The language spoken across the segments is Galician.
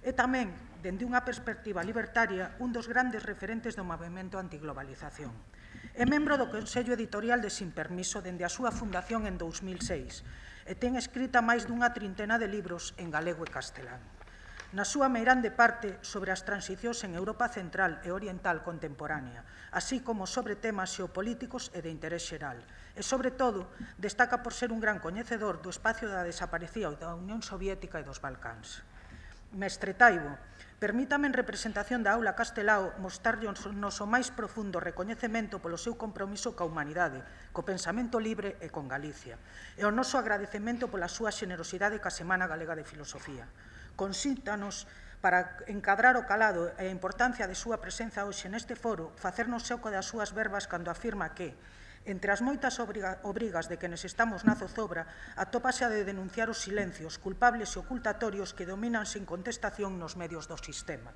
E tamén, dende unha perspectiva libertaria, un dos grandes referentes do movemento antiglobalización. É membro do Consello Editorial de Sin Permiso dende a súa fundación en 2006 e ten escrita máis dunha trintena de libros en galego e castelán. Na súa meirande parte sobre as transicións en Europa Central e Oriental contemporánea, así como sobre temas xeopolíticos e de interés xeral. E, sobre todo, destaca por ser un gran coñecedor do espacio da desaparecida da Unión Soviética e dos Balcáns. Mestre Taibo, permítame en representación da aula castelao mostrarlle o noso máis profundo recoñecemento polo seu compromiso ca humanidade, co pensamento libre e con Galicia, e o noso agradecemento pola súa xenerosidade ca Semana Galega de Filosofía. Consíntanos, para encadrar o calado e a importancia de súa presenza hoxe neste foro, facernos eco das súas verbas cando afirma que, entre as moitas obrigas de quenes estamos na zozobra, atópase a de denunciar os silencios culpables e ocultatorios que dominan sen contestación nos medios do sistema.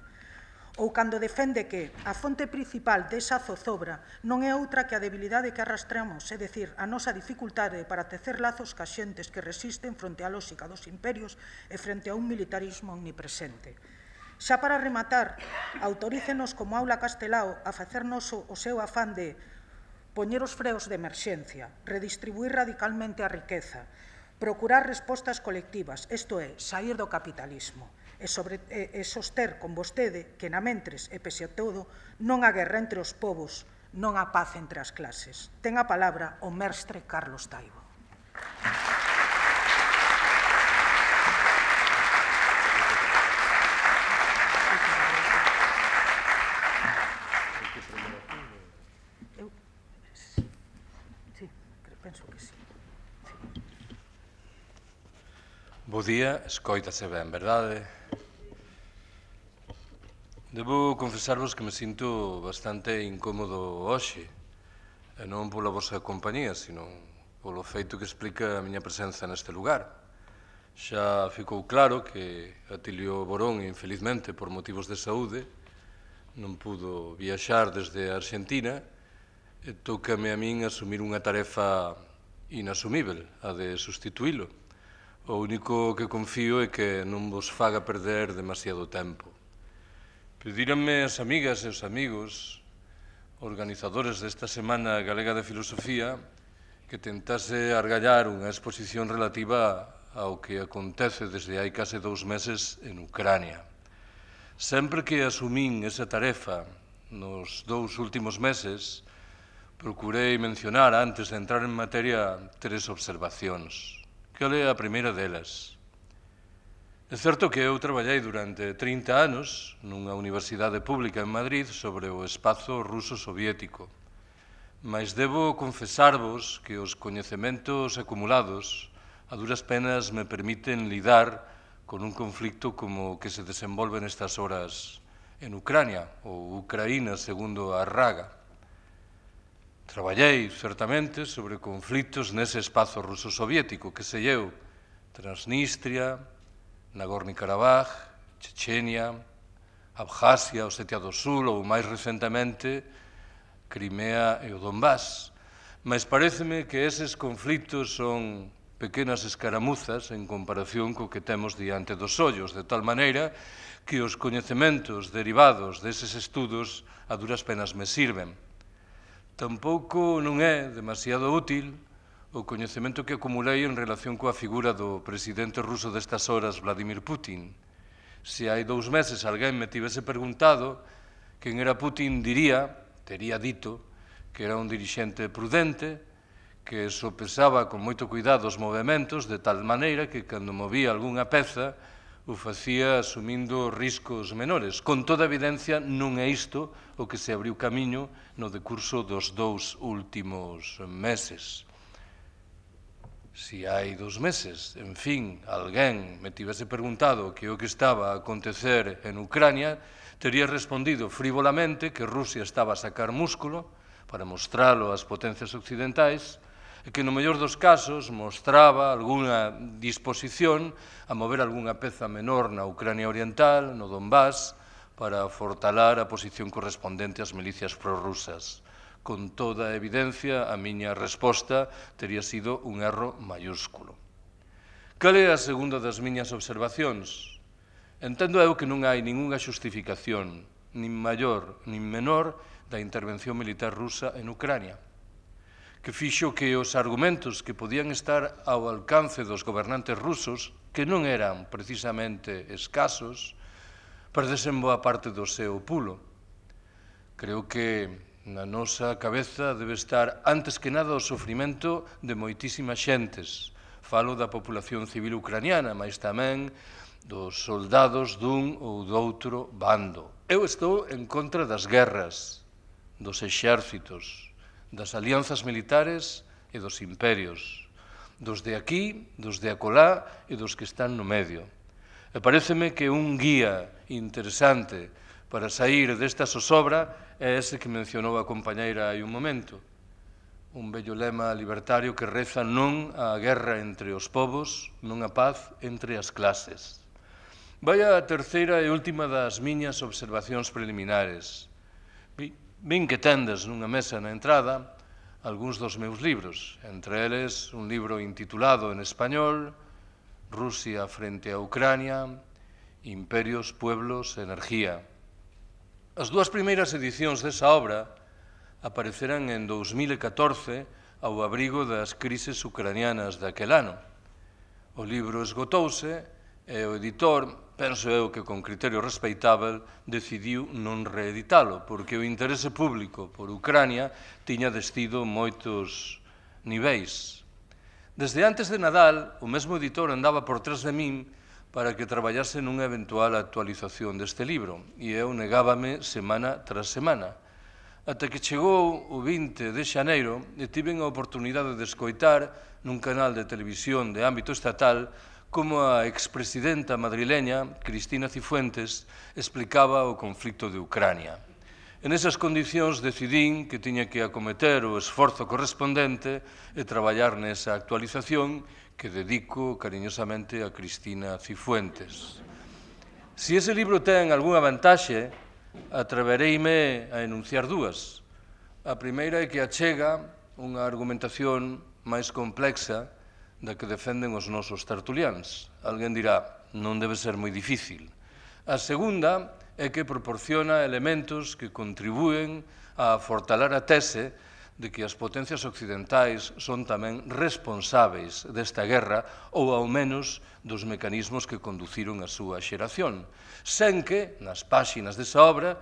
Ou cando defende que a fonte principal desa zozobra non é outra que a debilidade que arrastramos, é dicir, a nosa dificultade para tecer lazos ca xentes que resisten fronte á lógica dos imperios e frente a un militarismo omnipresente. Xa para rematar, autorícenos como aula castelao a facernos o seu afán de poñer os freos de emerxencia, redistribuir radicalmente a riqueza, procurar respostas colectivas, isto é, saír do capitalismo, e soster con vostede que namentres e pese a todo non a guerra entre os povos, non a paz entre as clases. Ten a palabra o mestre Carlos Taibo. Penso que sí. Bo día, escoítase ben, verdade? Debo confesarvos que me sinto bastante incómodo hoxe, e non pola vosa compañía, sino polo feito que explica a miña presenza neste lugar. Xa ficou claro que Atilio Borón, infelizmente, por motivos de saúde, non pudo viaxar desde a Arxentina e tócame a min asumir unha tarefa inasumível, a de sustituílo. O único que confío é que non vos faga perder demasiado tempo. Pedíranme as amigas e os amigos, organizadores desta Semana Galega de Filosofía, que tentase argallar unha exposición relativa ao que acontece desde hai case 2 meses en Ucrania. Sempre que asumín esa tarefa nos 2 últimos meses, procurei mencionar, antes de entrar en materia, 3 observacións. Cal é a primeira delas? É certo que eu traballei durante 30 anos nunha universidade pública en Madrid sobre o espazo ruso soviético, mas debo confesarvos que os coñecementos acumulados a duras penas me permiten lidar con un conflicto como o que se desenvolve nestas horas en Ucrania, ou Ucraína, segundo a Raga. Traballei, certamente, sobre conflitos nese espazo ruso-soviético, que sei eu, Transnistria, Nagorno-Karabaj, Chechenia, Abjasia, Osetia do Sul ou, máis recentemente, Crimea e o Donbass. Mas paréceme que eses conflitos son pequenas escaramuzas en comparación co que temos diante dos ollos, de tal maneira que os coñecementos derivados deses estudos a duras penas me sirven. Tampouco non é demasiado útil o coñecemento que acumulei en relación coa figura do presidente ruso destas horas, Vladimir Putin. Se hai 2 meses alguén me tivese preguntado quen era Putin, tería dito que era un dirixente prudente, que sopesaba con moito cuidado os movementos, de tal maneira que cando movía algunha peza o facía asumindo riscos menores. Con toda evidencia non é isto o que se abriu camiño no decurso dos 2 últimos meses. Se hai 2 meses, en fin, alguén me tivese preguntado que o que estaba a acontecer en Ucrania, tería respondido frívolamente que Rusia estaba a sacar músculo para mostralo ás potencias occidentais e que no mellor dos casos mostraba algunha disposición a mover algunha peza menor na Ucrania Oriental, no Donbass, para fortalar a posición correspondente ás milicias prorrusas. Con toda a evidencia, a miña resposta tería sido un erro maiúsculo. Cal é a segunda das miñas observacións? Entendo eu que non hai ningunha xustificación, nin maior nin menor, da intervención militar rusa en Ucrania, que fixo que os argumentos que podían estar ao alcance dos gobernantes rusos, que non eran precisamente escasos, perdesen boa parte do seu pulo. Creo que na nosa cabeza debe estar, antes que nada, o sofrimento de moitísimas xentes. Falo da populación civil ucraniana, mas tamén dos soldados dun ou doutro bando. Eu estou en contra das guerras, dos exércitos, das alianzas militares e dos imperios, dos de aquí, dos de acolá e dos que están no medio. E paréceme que un guía interesante para sair desta zozobra é ese que mencionou a compañeira hai un momento, un bello lema libertario que reza non a guerra entre os povos, non a paz entre as clases. Vai a terceira e última das miñas observacións preliminares. Vin que tendes nunha mesa na entrada algúns dos meus libros, entre eles un libro intitulado en español Rusia frente a Ucrania, Imperios, Pueblos, Energía. As dúas primeiras edicións desa obra aparecerán en 2014 ao abrigo das crises ucranianas daquel ano. O libro esgotouse e o editor, penso eu que con criterio respeitável, decidiu non reeditalo, porque o interese público por Ucrania tiña descido moitos niveis. Desde antes de Nadal, o mesmo editor andaba por trás de min para que traballase nunha eventual actualización deste libro, e eu negábame semana tras semana, ata que chegou o 20 de xaneiro e tiven a oportunidade de escoitar nun canal de televisión de ámbito estatal como a expresidenta madrileña, Cristina Cifuentes, explicaba o conflicto de Ucrania. En esas condicións decidín que tiña que acometer o esforzo correspondente e traballar nesa actualización que dedico cariñosamente a Cristina Cifuentes. Se ese libro ten algunha vantaxe, atrevereime a enunciar dúas. A primeira é que achega unha argumentación máis complexa da que defenden os nosos tertuliáns. Alguén dirá, non debe ser moi difícil. A segunda é que proporciona elementos que contribúen a fortalar a tese de que as potencias occidentais son tamén responsáveis desta guerra ou ao menos dos mecanismos que conduciron a súa xeración, sen que, nas páxinas desa obra,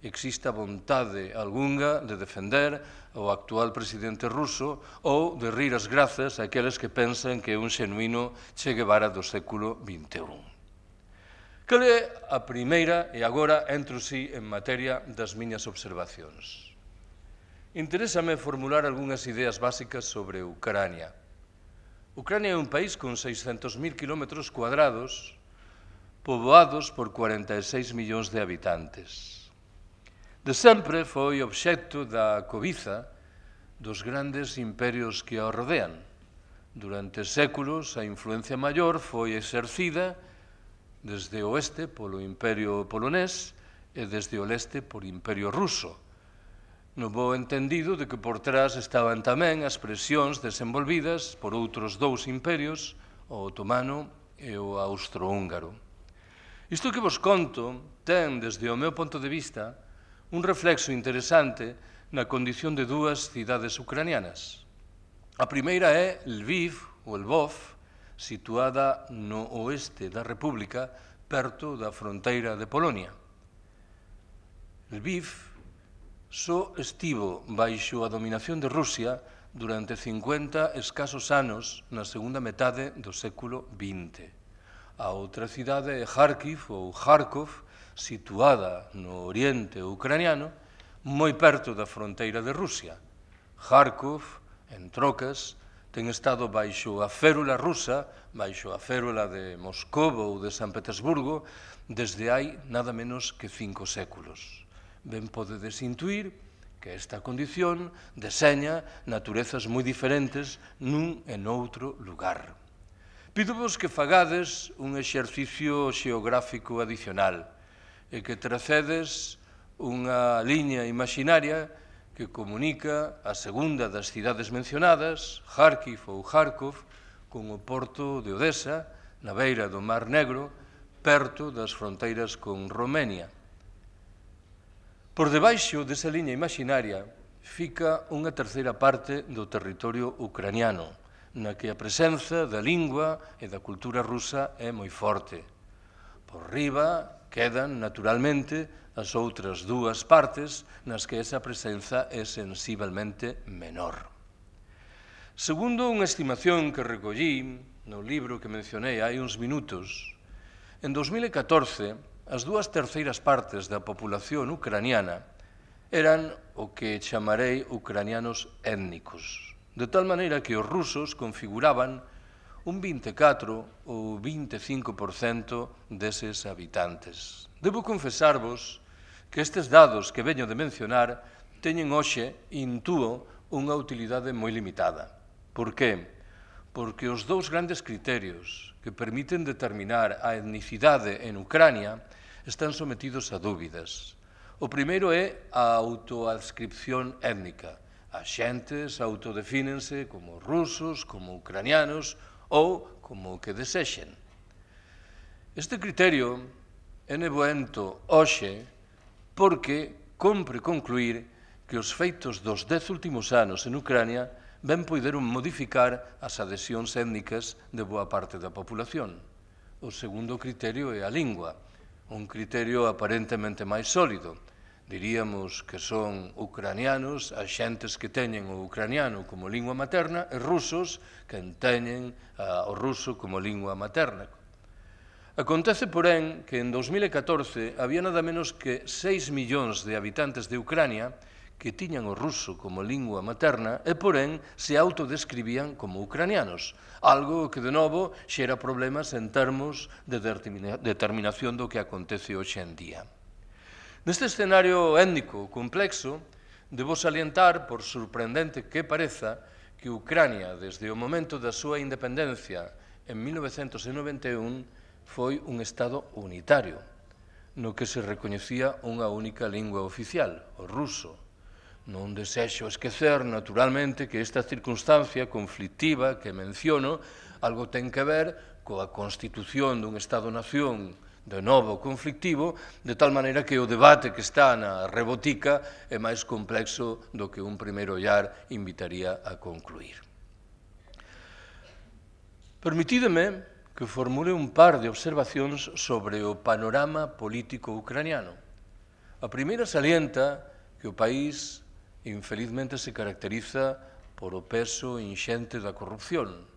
exista vontade algunha de defender o actual presidente ruso ou de rir as grazas a aqueles que pensan que é un xenuíno Che Guevara do século XXI. Cal é a primeira, e agora entro si en materia das miñas observacións. Interésame formular algunhas ideas básicas sobre Ucrania. Ucrania é un país con 600.000 km², poboados por 46 millóns de habitantes. De sempre foi obxecto da cobiza dos grandes imperios que o rodean. Durante séculos, a influencia maior foi exercida desde o oeste polo Imperio polonés e desde o leste por Imperio ruso, no bo entendido de que por trás estaban tamén as presións desenvolvidas por outros dous imperios, o otomano e o austrohúngaro. Isto que vos conto ten, desde o meu punto de vista, un reflexo interesante na condición de dúas cidades ucranianas. A primeira é Lviv, ou Lvov, situada no oeste da República, perto da fronteira de Polonia. Lviv só estivo baixo a dominación de Rusia durante 50 escasos anos na segunda metade do século XX. A outra cidade é Kharkiv ou Kharkov, situada no oriente ucraniano, moi perto da fronteira de Rusia. Kharkov, en trocas, ten estado baixo a férula rusa, baixo a férula de Moscou ou de San Petersburgo, desde hai nada menos que 5 séculos. Ben podedes intuir que esta condición deseña naturezas moi diferentes nun e noutro lugar. Pídovos que fagades un exercicio xeográfico adicional e que tracedes unha liña imaginaria que comunica a segunda das cidades mencionadas, Kharkiv ou Kharkov, con o porto de Odessa, na beira do Mar Negro, perto das fronteiras con Romenia. Por debaixo desa liña imaginaria fica unha terceira parte do territorio ucraniano, na que a presenza da lingua e da cultura rusa é moi forte. Por riba quedan, naturalmente, as outras dúas partes nas que esa presenza é sensiblemente menor. Segundo unha estimación que recollí no libro que mencionei hai uns minutos, en 2014 as dúas terceiras partes da populación ucraniana eran o que chamarei ucranianos étnicos, de tal maneira que os rusos configuraban un 24 ou 25% deses habitantes. Debo confesarvos que estes dados que veño de mencionar teñen hoxe, intúo, unha utilidade moi limitada. Por que? Porque os dous grandes criterios que permiten determinar a etnicidade en Ucrania están sometidos a dúbidas. O primeiro é a autoadscripción étnica. As xentes autodefínense como rusos, como ucranianos ou como o que desexen. Este criterio é nevoento hoxe porque compre concluir que os feitos dos 10 últimos anos en Ucrania ben poideron modificar as adhesións étnicas de boa parte da populación. O segundo criterio é a lingua, un criterio aparentemente máis sólido. Diríamos que son ucranianos as xentes que teñen o ucraniano como lingua materna e rusos que teñen o ruso como lingua materna. Acontece, porén, que en 2014 había nada menos que 6 millóns de habitantes de Ucrania que tiñan o ruso como lingua materna e, porén, se autodescribían como ucranianos, algo que, de novo, xera problemas en termos de determinación do que acontece hoxe en día. Neste escenario étnico complexo, debo salientar, por sorprendente que pareza, que Ucrania, desde o momento da súa independencia en 1991, foi un Estado unitario, no que se recoñecía unha única lingua oficial, o ruso. Non desexo esquecer, naturalmente, que esta circunstancia conflictiva que menciono algo ten que ver coa constitución dun Estado-nación de novo conflictivo, de tal maneira que o debate que está na rebotica é máis complexo do que un primeiro ollar invitaría a concluir. Permitídeme que formule un par de observacións sobre o panorama político ucraniano. A primeira salienta que o país infelizmente se caracteriza por o peso inxente da corrupción.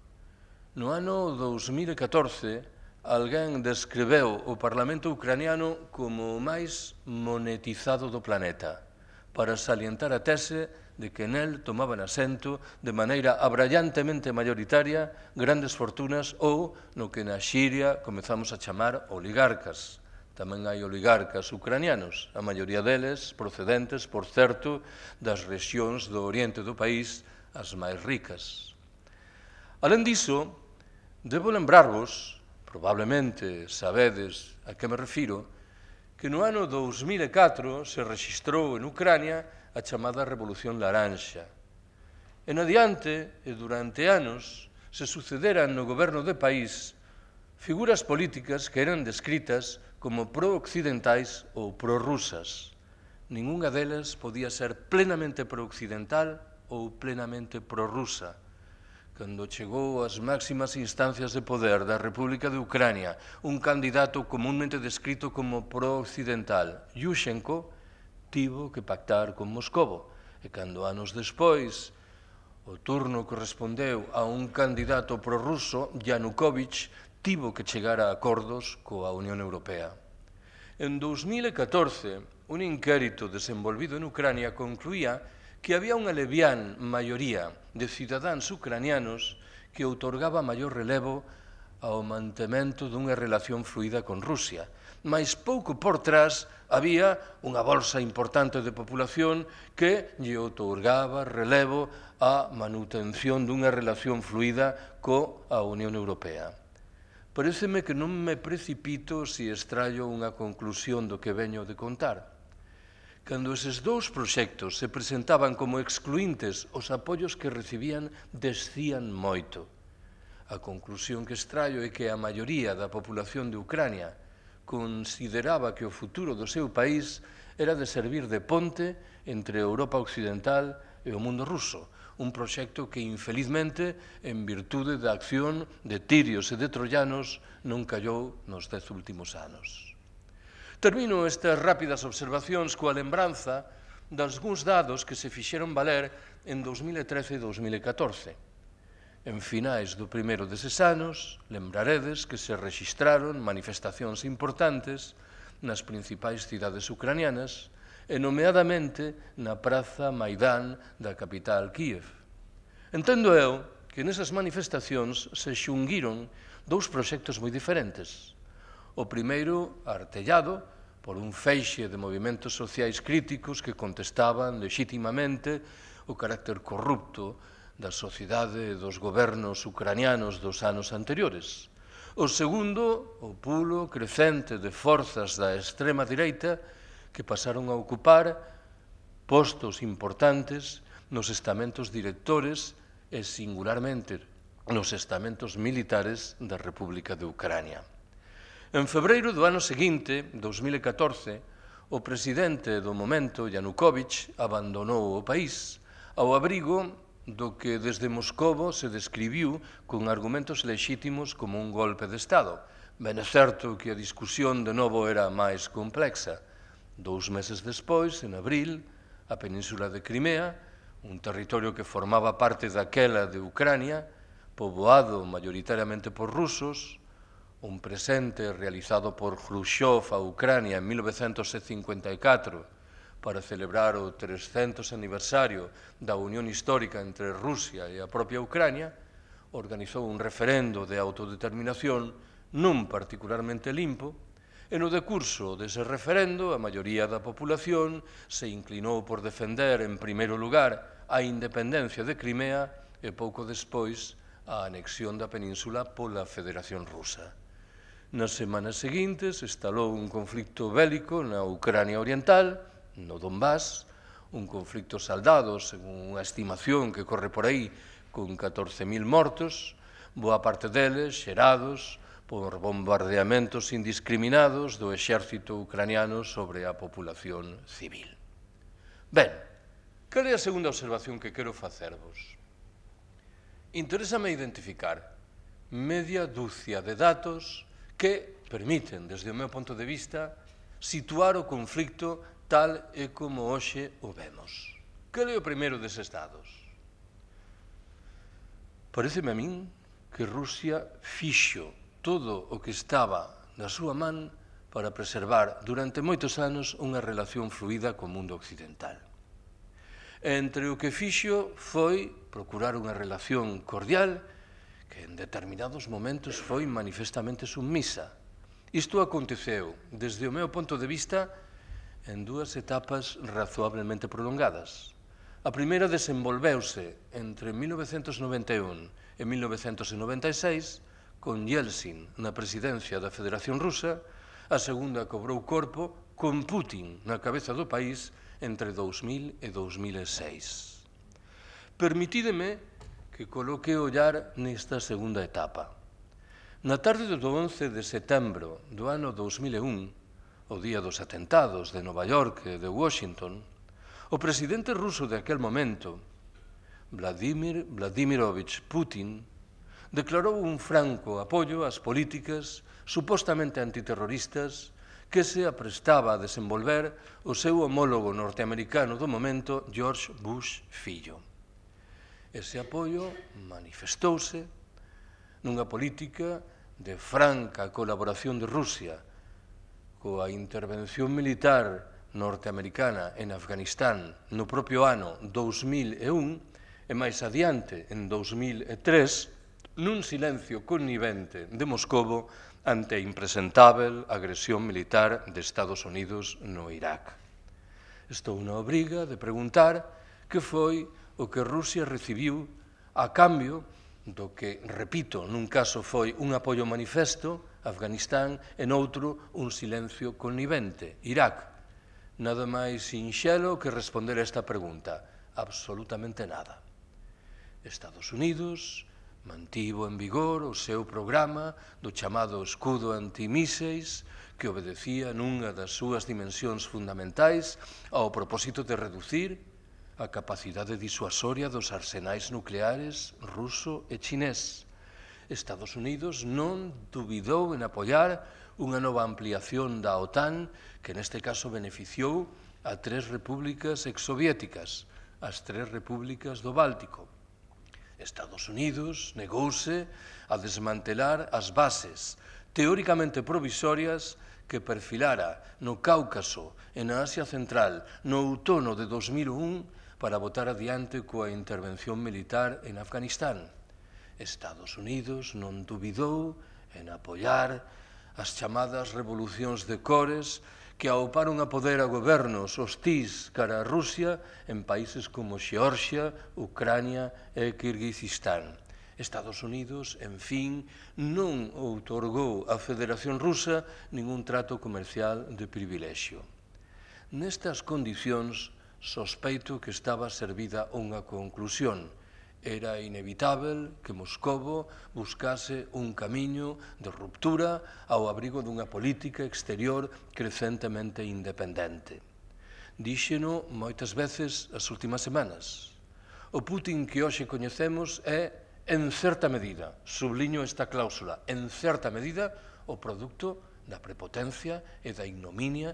No ano 2014, alguén describeu o Parlamento ucraniano como o máis monetizado do planeta, para salientar a tese de que nel tomaban asento de maneira abrallantemente mayoritaria grandes fortunas ou no que na Xiria comezamos a chamar oligarcas. Tamén hai oligarcas ucranianos, a maioría deles procedentes, por certo, das rexións do oriente do país as máis ricas. Alén diso, debo lembrarvos, probablemente sabedes a que me refiro, que no ano 2004 se rexistrou en Ucrania a chamada Revolución Laranxa. En adiante, e durante anos, se sucederan no goberno do país figuras políticas que eran descritas como pro-occidentais ou pro-rusas. Ningunha delas podía ser plenamente pro-occidental ou plenamente pro-rusa. Cando chegou ás máximas instancias de poder da República de Ucrania un candidato comúnmente descrito como pro-occidental, Yushchenko, tivo que pactar con Moscovo. E cando anos despois o turno correspondeu a un candidato pro-ruso, Yanukovych, tivo que chegar a acordos coa Unión Europea. En 2014, un inquérito desenvolvido en Ucrania concluía que había unha levián maioría de cidadáns ucranianos que outorgaba maior relevo ao mantemento dunha relación fluida con Rusia. Mais pouco por trás había unha bolsa importante de población que lle outorgaba relevo á manutención dunha relación fluida coa Unión Europea. Paréceme que non me precipito se extraio unha conclusión do que veño de contar. Cando eses dous proxectos se presentaban como excluíntes, os apoios que recibían descían moito. A conclusión que extraio é que a maioría da populación de Ucrania consideraba que o futuro do seu país era de servir de ponte entre a Europa occidental e o mundo ruso, un proxecto que, infelizmente, en virtude da acción de tirios e de troianos, non callou nos 10 últimos anos. Termino estas rápidas observacións coa lembranza dalgúns dados que se fixeron valer en 2013 e 2014. En finais do primeiro deses anos, lembraredes que se rexistraron manifestacións importantes nas principais cidades ucranianas e nomeadamente na praza Maidán da capital Kiev. Entendo eu que nesas manifestacións se xunguiron dous proxectos moi diferentes. O primeiro, artellado por un feixe de movimentos sociais críticos que contestaban legitimamente o carácter corrupto da sociedade e dos gobernos ucranianos dos anos anteriores. O segundo, o pulo crecente de forzas da extrema direita que pasaron a ocupar postos importantes nos estamentos directores e, singularmente, nos estamentos militares da República de Ucrania. En febreiro do ano seguinte, 2014, o presidente do momento, Yanukovych, abandonou o país ao abrigo do que desde Moscovo se describiu con argumentos lexítimos como un golpe de Estado. Ben é certo que a discusión de novo era máis complexa. 2 meses despois, en abril, a península de Crimea, un territorio que formaba parte daquela de Ucrania, poboado maioritariamente por rusos, un presente realizado por Khrushchev a Ucrania en 1954 para celebrar o 300 aniversario da unión histórica entre Rusia e a propia Ucrania, organizou un referendo de autodeterminación non particularmente limpo, e no decurso dese referendo a maioría da población se inclinou por defender en primeiro lugar a independencia de Crimea e pouco despois a anexión da península pola Federación Rusa. Nas semanas seguintes estalou un conflicto bélico na Ucrania Oriental, no Donbass, un conflicto saldado, según unha estimación que corre por aí, con 14.000 mortos, boa parte deles xerados por bombardeamentos indiscriminados do exército ucraniano sobre a populación civil. Ben, cal é a segunda observación que quero facervos? Interésame identificar media dúcia de datos que permiten, desde o meu ponto de vista, situar o conflicto tal e como hoxe o vemos. Cal é o primeiro deses dados? Pareceme a min que Rusia fixo todo o que estaba na súa man para preservar durante moitos anos unha relación fluida co mundo occidental. Entre o que fixo foi procurar unha relación cordial que en determinados momentos foi manifestamente submisa. Isto aconteceu, desde o meu ponto de vista, en 2 etapas razoablemente prolongadas. A primeira desenvolveuse entre 1991 e 1996 con Yeltsin na presidencia da Federación Rusa, a segunda cobrou corpo con Putin na cabeza do país entre 2000 e 2006. Permitídeme que coloque o ollar nesta segunda etapa. Na tarde do 11 de setembro do ano 2001, o día dos atentados de Nova York e de Washington, o presidente ruso de aquel momento, Vladimir Vladimirovich Putin, declarou un franco apoio ás políticas supostamente antiterroristas que se aprestaba a desenvolver o seu homólogo norteamericano do momento, George Bush fillo. Ese apoio manifestouse nunha política de franca colaboración de Rusia coa intervención militar norteamericana en Afganistán no propio ano 2001 e máis adiante, en 2003, nun silencio connivente de Moscovo ante a impresentável agresión militar de Estados Unidos no Irak. Estou na obriga de preguntar que foi o que Rusia recibiu a cambio do que, repito, nun caso foi un apoio manifesto, Afganistán, e noutro un silencio connivente, Irak. Nada máis sinxelo que responder a esta pregunta. Absolutamente nada. Estados Unidos mantivo en vigor o seu programa do chamado escudo antimíseis que obedecía nunha das súas dimensións fundamentais ao propósito de reducir a capacidade disuasoria dos arsenais nucleares ruso e chinés. Estados Unidos non dubidou en apoiar unha nova ampliación da OTAN que neste caso beneficiou a 3 repúblicas exsoviéticas, as 3 repúblicas do Báltico. Estados Unidos negouse a desmantelar as bases teóricamente provisorias que perfilara no Cáucaso e na Asia Central no outono de 2001 para botar adiante coa intervención militar en Afganistán. Estados Unidos non dubidou en apoiar as chamadas revolucións de cores que auparon a poder a gobernos hostís cara a Rusia en países como Xeorxia, Ucrania e Kirguizistán. Estados Unidos, en fin, non outorgou á Federación Rusa ningún trato comercial de privilexio. Nestas condicións, sospeito que estaba servida unha conclusión. Era inevitável que Moscovo buscase un camiño de ruptura ao abrigo dunha política exterior crecentemente independente. Díxeno moitas veces as últimas semanas. O Putin que hoxe coñecemos é, en certa medida, subliño esta cláusula, en certa medida, o produto da prepotencia e da ignominia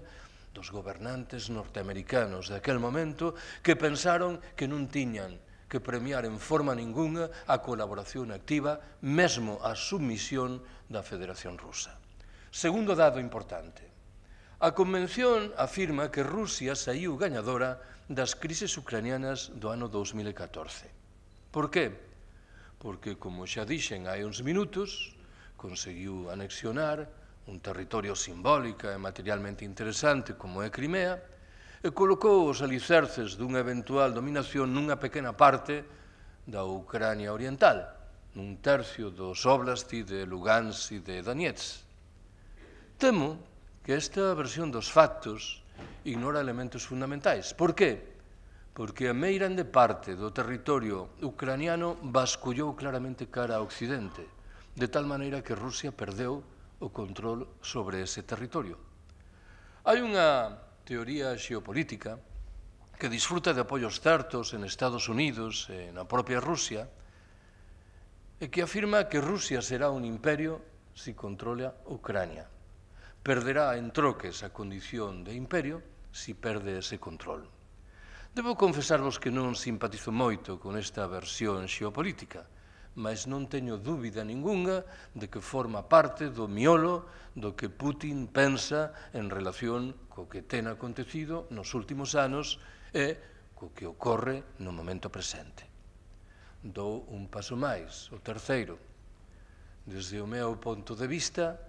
dos gobernantes norteamericanos daquel momento que pensaron que non tiñan que premiar en forma ningunha a colaboración activa, mesmo a submisión da Federación Rusa. Segundo dado importante. A Convención afirma que Rusia saíu gañadora das crises ucranianas do ano 2014. Por qué? Porque, como xa dixen hai uns minutos, conseguiu anexionar un territorio simbólico e materialmente interesante como é Crimea, e colocou os alicerces dunha eventual dominación nunha pequena parte da Ucrania oriental, nun tercio dos oblasti de Lugansk e de Donetsk. Temo que esta versión dos factos ignora elementos fundamentais. Por qué? Porque a meirande parte do territorio ucraniano bascullou claramente cara a Occidente, de tal maneira que Rusia perdeu o control sobre ese territorio. Hai unha teoría xeopolítica que disfruta de apoios certos en Estados Unidos e na propia Rusia e que afirma que Rusia será un imperio si controla Ucrania. Perderá en troques a condición de imperio si perde ese control. Debo confesarvos que non simpatizo moito con esta versión xeopolítica, mas non teño dúbida ningunha de que forma parte do miolo do que Putin pensa en relación co que ten acontecido nos últimos anos e co que ocorre no momento presente. Dou un paso máis, o terceiro. Desde o meu ponto de vista,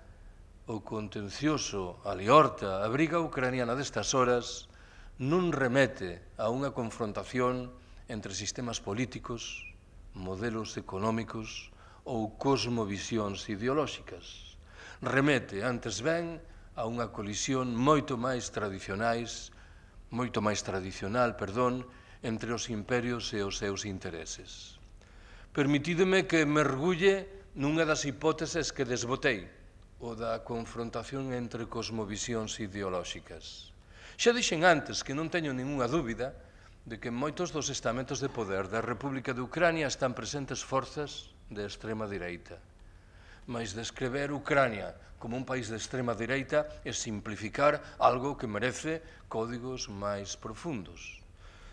o contencioso a liorta, a briga ucraniana destas horas, non remete a unha confrontación entre sistemas políticos, modelos económicos ou cosmovisións ideolóxicas. Remete, antes ben, a unha colisión moito máis tradicional, entre os imperios e os seus intereses. Permitídeme que mergulle nunha das hipóteses que desbotei, o da confrontación entre cosmovisións ideolóxicas. Xa dixen antes que non teño ningunha dúbida de que en moitos dos estamentos de poder da República de Ucrania están presentes forzas de extrema direita. Mas descrever Ucrania como un país de extrema direita é simplificar algo que merece códigos máis profundos.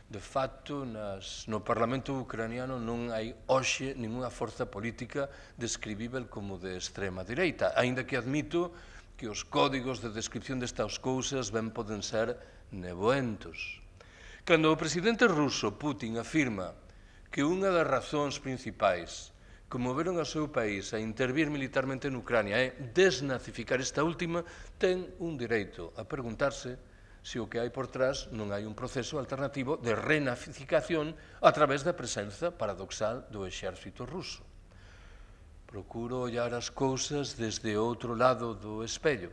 De facto, no Parlamento ucraniano non hai hoxe ningunha forza política describível como de extrema direita, aínda que admito que os códigos de descripción destas cousas ben poden ser nevoentos. Cando o presidente ruso Putin afirma que unha das razóns principais que moveron ao seu país a intervir militarmente en Ucrania é desnazificar esta última, ten un direito a preguntarse se o que hai por trás non hai un proceso alternativo de renazificación a través da presenza paradoxal do exército ruso. Procuro ollar as cousas desde outro lado do espello.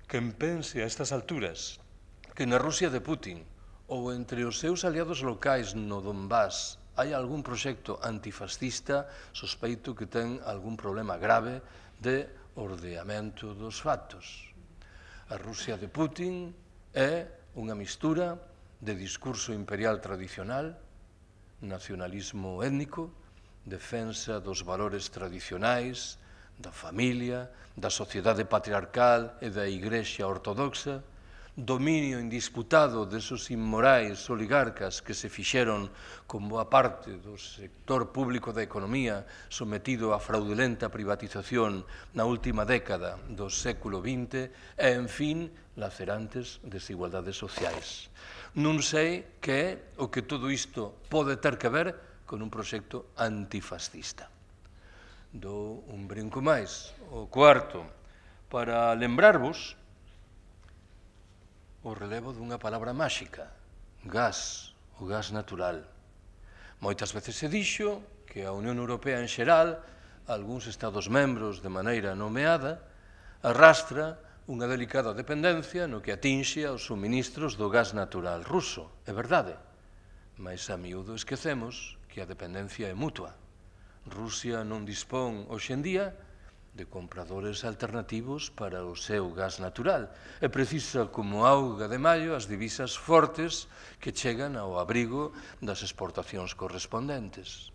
Quen pense a estas alturas que na Rusia de Putin ou entre os seus aliados locais no Donbass hai algún proxecto antifascista, sospeito que ten algún problema grave de ordeamento dos factos. A Rusia de Putin é unha mistura de discurso imperial tradicional, nacionalismo étnico, defensa dos valores tradicionais, da familia, da sociedade patriarcal e da Igrexa ortodoxa, dominio indisputado desos inmorais oligarcas que se fixeron con boa parte do sector público da economía sometido a fraudulenta privatización na última década do século XX e, en fin, lacerantes desigualdades sociais. Non sei que é o que todo isto pode ter que ver con un proxecto antifascista. Dou un brinco máis, o cuarto, para lembrarvos o relevo dunha palabra máxica, gas, o gas natural. Moitas veces se dixo que a Unión Europea en xeral, algúns Estados membros de maneira nomeada, arrastra unha delicada dependencia no que atinxe aos suministros do gas natural ruso. É verdade, mas a miúdo esquecemos que a dependencia é mutua. Rusia non dispón hoxe en día de compradores alternativos para o seu gas natural e precisa como auga de maio as divisas fortes que chegan ao abrigo das exportacións correspondentes.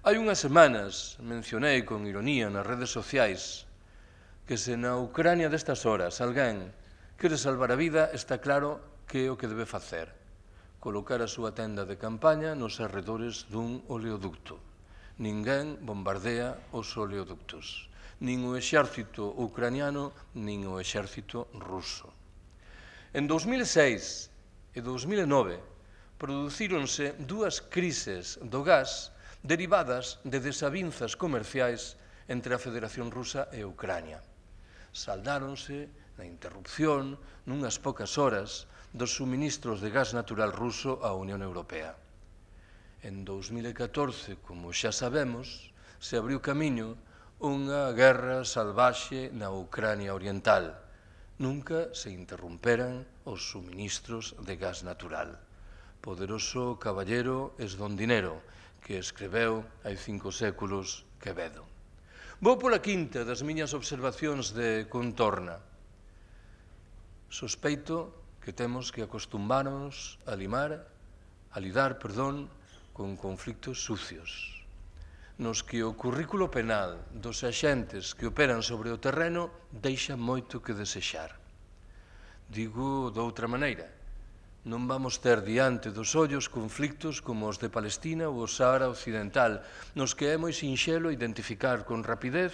Hai unhas semanas mencionei con ironía nas redes sociais que se na Ucrania destas horas alguén quere salvar a vida, está claro que é o que debe facer: colocar a súa tenda de campaña nos arredores dun oleoducto. Ninguén bombardea os oleoductos, nin o exército ucraniano, nin o exército ruso. En 2006 e 2009 producíronse dúas crises do gas derivadas de desavinzas comerciais entre a Federación Rusa e Ucrania. Saldáronse na interrupción nunhas poucas horas dos suministros de gas natural ruso á Unión Europea. En 2014, como xa sabemos, se abriu camiño unha guerra salvaxe na Ucrania oriental. Nunca se interromperan os suministros de gas natural. Poderoso caballero es don dinero, que escreveu hai 5 séculos Quevedo. Vou pola quinta das miñas observacións de contorna. Sospeito que temos que acostumbarnos a lidar con conflictos sucios, nos que o currículo penal dos axentes que operan sobre o terreno deixa moito que desexar. Digo doutra maneira, non vamos ter diante dos ollos conflictos como os de Palestina ou o Sahara Occidental, nos que é moi sinxelo identificar con rapidez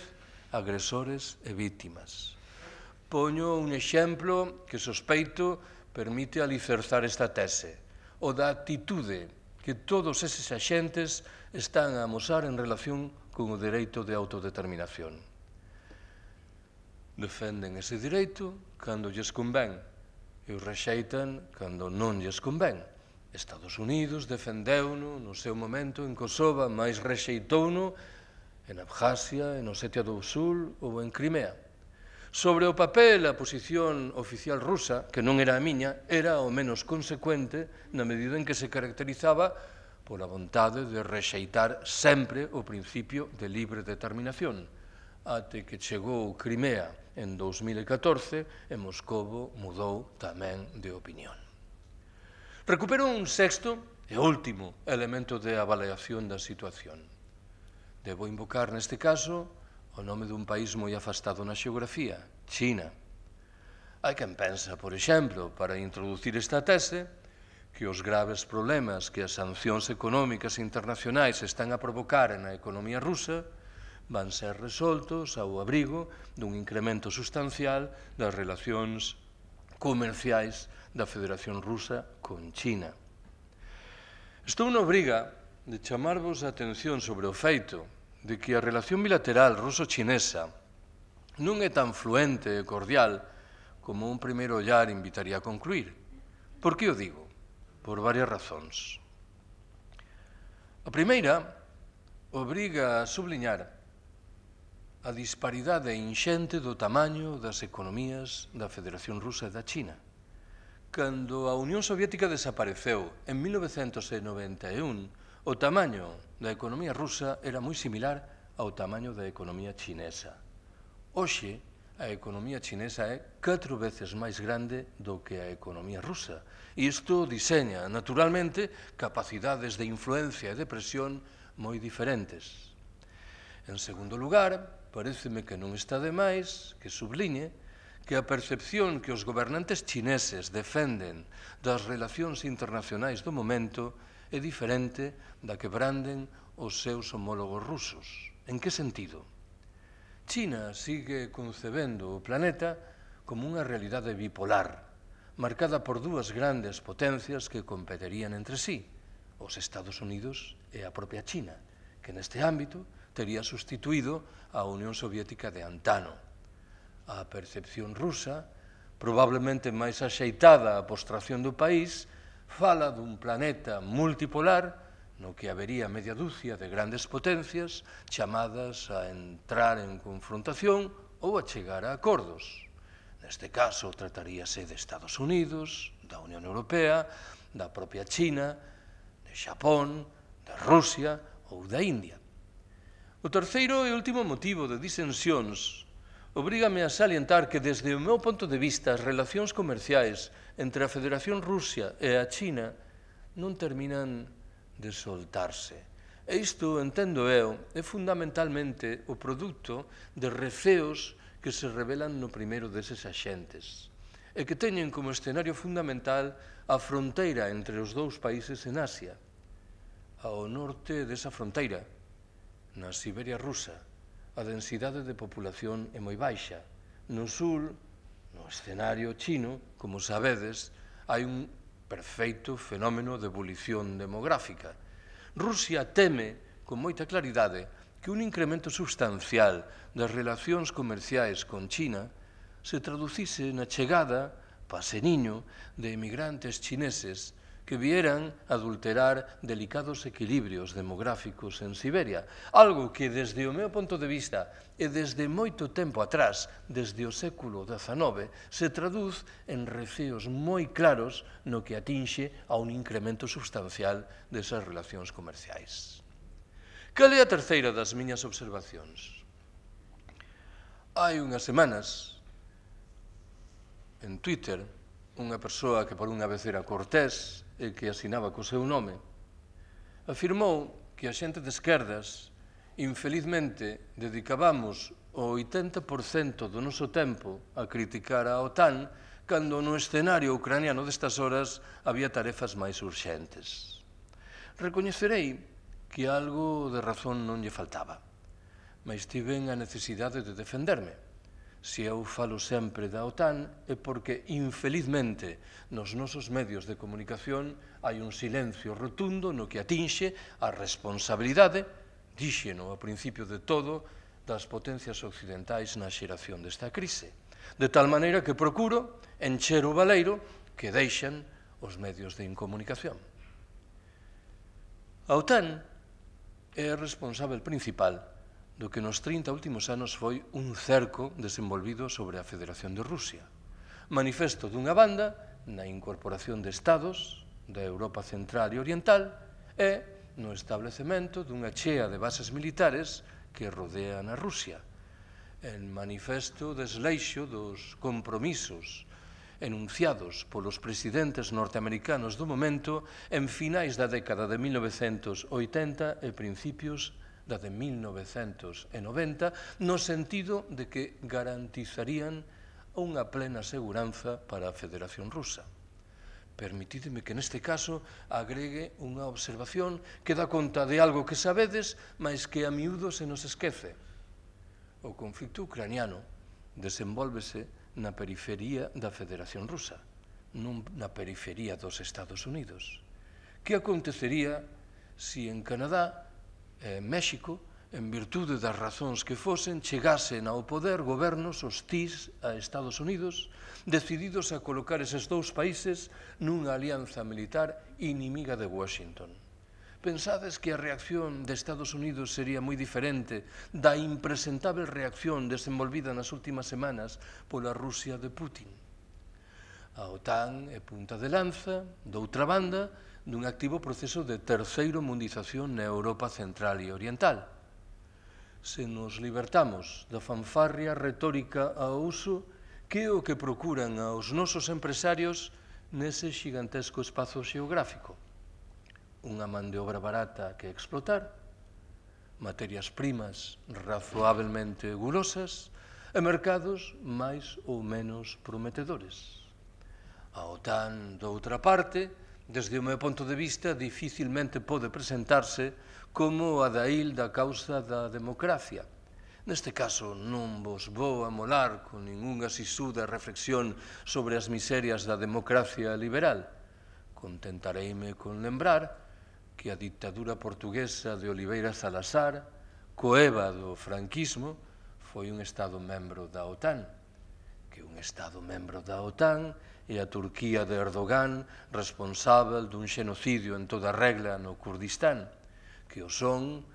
agresores e vítimas. Poño un exemplo que sospeito permite alicerzar esta tese, o da actitude que todos eses axentes están a amosar en relación con o dereito de autodeterminación. Defenden ese dereito cando lles convén e o rexeitan cando non lles convén. Estados Unidos defendeu-no no seu momento en Kosovo, mais rexeitouno en Abjasia, en Osetia do Sul ou en Crimea. Sobre o papel, a posición oficial rusa, que non era a miña, era ao menos consecuente na medida en que se caracterizaba pola vontade de rexeitar sempre o principio de libre determinación, até que chegou Crimea en 2014 e Moscovo mudou tamén de opinión. Recupero un sexto e último elemento de avaliación da situación. Debo invocar neste caso o nome dun país moi afastado na xeografía, China. Hai quen pensa, por exemplo, para introducir esta tese, que os graves problemas que as sancións económicas internacionais están a provocar na economía rusa van ser resoltos ao abrigo dun incremento sustancial das relacións comerciais da Federación Rusa con China. Estou na obriga de chamarvos a atención sobre o feito de que a relación bilateral ruso-chinesa non é tan fluente e cordial como un primeiro ollar invitaría a concluir. Por que o digo? Por varias razóns. A primeira obriga a subliñar a disparidade inxente do tamaño das economías da Federación Rusa e da China. Cando a Unión Soviética desapareceu en 1991, o tamaño da economía rusa era moi similar ao tamaño da economía chinesa. Hoxe, a economía chinesa é 4 veces máis grande do que a economía rusa. E isto diseña, naturalmente, capacidades de influencia e de presión moi diferentes. En segundo lugar, paréceme que non está de máis que subliñe que a percepción que os gobernantes chineses defenden das relacións internacionais do momento é diferente da que branden os seus homólogos rusos. En que sentido? China sigue concebendo o planeta como unha realidade bipolar, marcada por dúas grandes potencias que competerían entre sí, os Estados Unidos e a propia China, que neste ámbito tería sustituído a Unión Soviética de antano. A percepción rusa, probablemente máis axeitada á postración do país, fala dun planeta multipolar no que habería media dúcia de grandes potencias chamadas a entrar en confrontación ou a chegar a acordos. Neste caso, trataríase de Estados Unidos, da Unión Europea, da propia China, de Xapón, de Rusia ou da India. O terceiro e último motivo de disensións obrígame a salientar que, desde o meu ponto de vista, as relacións comerciais entre a Federación Rusa e a China non terminan de soltarse. E isto, entendo eu, é fundamentalmente o produto de receos que se revelan no primeiro deses axentes e que teñen como escenario fundamental a fronteira entre os dous países en Asia. Ao norte desa fronteira, na Siberia rusa, a densidade de población é moi baixa. No sur, no escenario chino, como sabedes, hai un perfeito fenómeno de evolución demográfica. Rusia teme, con moita claridade, que un incremento substancial das relacións comerciais con China se traducise na chegada, paseniño, de emigrantes chineses que vieran adulterar delicados equilibrios demográficos en Siberia, algo que, desde o meu punto de vista e desde moito tempo atrás, desde o século XIX, se traduz en receos moi claros no que atinxe a un incremento substancial desas relacións comerciais. Cal é a terceira das miñas observacións? Hai unhas semanas, en Twitter, unha persoa que por unha vez era cortés e que asinaba co seu nome, afirmou que a xente de esquerdas, infelizmente, dedicábamos o 80% do noso tempo a criticar a OTAN cando no escenario ucraniano destas horas había tarefas máis urxentes. Recoñecerei que algo de razón non lle faltaba, mas tiven a necesidade de defenderme. Se eu falo sempre da OTAN é porque, infelizmente, nos nosos medios de comunicación hai un silencio rotundo no que atinxe a responsabilidade, díxeno ao principio de todo, das potencias occidentais na xeración desta crise. De tal maneira que procuro encher o baleiro que deixan os medios de incomunicación. A OTAN é a responsável principal do que nos 30 últimos anos foi un cerco desenvolvido sobre a Federación de Rusia. Manifesto dunha banda na incorporación de estados da Europa Central e Oriental e no establecemento dunha chea de bases militares que rodean a Rusia. En manifesto desleixo dos compromisos enunciados polos presidentes norteamericanos do momento en finais da década de 1980 e principios da de 1990, no sentido de que garantizarían unha plena seguranza para a Federación Rusa. Permitideme que neste caso agregue unha observación que dá conta de algo que sabedes, mas que a miúdo se nos esquece. O conflito ucraniano desenvólvese na periferia da Federación Rusa, non na periferia dos Estados Unidos. Que acontecería se en Canadá e México, en virtude das razóns que fosen, chegasen ao poder gobernos hostís a Estados Unidos, decididos a colocar eses dous países nunha alianza militar inimiga de Washington? Pensades que a reacción de Estados Unidos sería moi diferente da impresentable reacción desenvolvida nas últimas semanas pola Rusia de Putin? A OTAN é punta de lanza, doutra banda, dun activo proceso de terceiro mundización na Europa Central e Oriental. se nos libertamos da fanfarria retórica ao uso, que é o que procuran aos nosos empresarios nese xigantesco espazo xeográfico. Unha man de obra barata que explotar, materias primas razoablemente gulosas e mercados máis ou menos prometedores. A OTAN, doutra parte, desde o meu ponto de vista, dificilmente pode presentarse como a dail da causa da democracia. Neste caso, non vos vou amolar con ningunha sisuda reflexión sobre as miserias da democracia liberal. Contentareime con lembrar que a dictadura portuguesa de Oliveira Salazar, coeva do franquismo, foi un Estado membro da OTAN, que un Estado membro da OTAN e a Turquía de Erdogan responsável dun xenocidio en toda regla no Kurdistán, que o son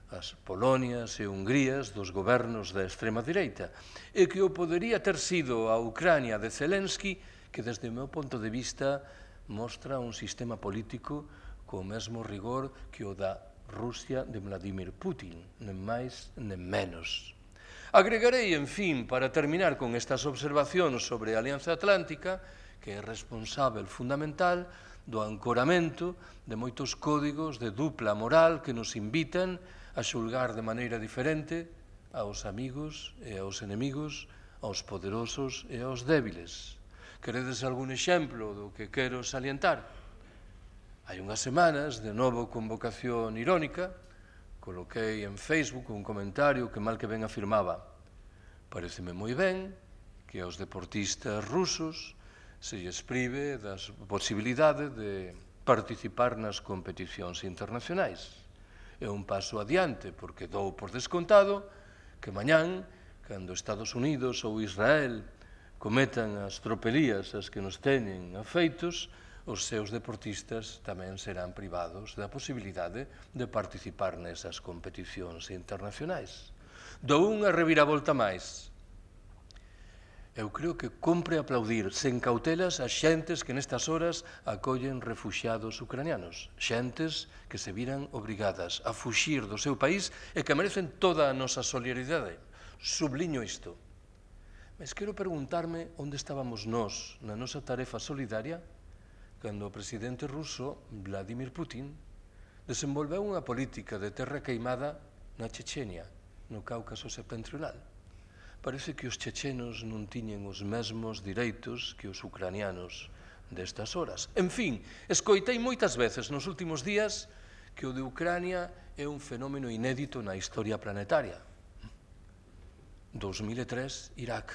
as Polonias e Hungrías dos gobernos da extrema direita, e que o podería ter sido a Ucrania de Zelensky, que desde o meu ponto de vista mostra un sistema político co mesmo rigor que o da Rusia de Vladimir Putin, nen máis nen menos. Agregarei, en fin, para terminar con estas observacións sobre a Alianza Atlántica, que é responsável fundamental do ancoramento de moitos códigos de dupla moral que nos invitan a xulgar de maneira diferente aos amigos e aos enemigos, aos poderosos e aos débiles. Queredes algún exemplo do que quero salientar? Hai unhas semanas, de novo con vocación irónica, coloquei en Facebook un comentario que mal que ben afirmaba: pareceme moi ben que aos deportistas rusos se lles prive da posibilidade de participar nas competicións internacionais. É un paso adiante, porque dou por descontado que mañán, cando Estados Unidos ou Israel cometan as tropelías as que nos teñen afeitos, os seus deportistas tamén serán privados da posibilidade de participar nesas competicións internacionais. Dou unha reviravolta máis. Eu creo que compre aplaudir sen cautelas as xentes que nestas horas acollen refuxiados ucranianos, xentes que se viran obrigadas a fuxir do seu país e que merecen toda a nosa solidaridade. Subliño isto. Mas quero preguntarme onde estábamos nós na nosa tarefa solidaria cando o presidente ruso, Vladimir Putin, desenvolveu unha política de terra queimada na Chechenia, no Cáucaso septentrional. Parece que os chechenos non tiñen os mesmos direitos que os ucranianos destas horas. En fin, escoitei moitas veces nos últimos días que o de Ucrania é un fenómeno inédito na historia planetaria. 2003, Irak.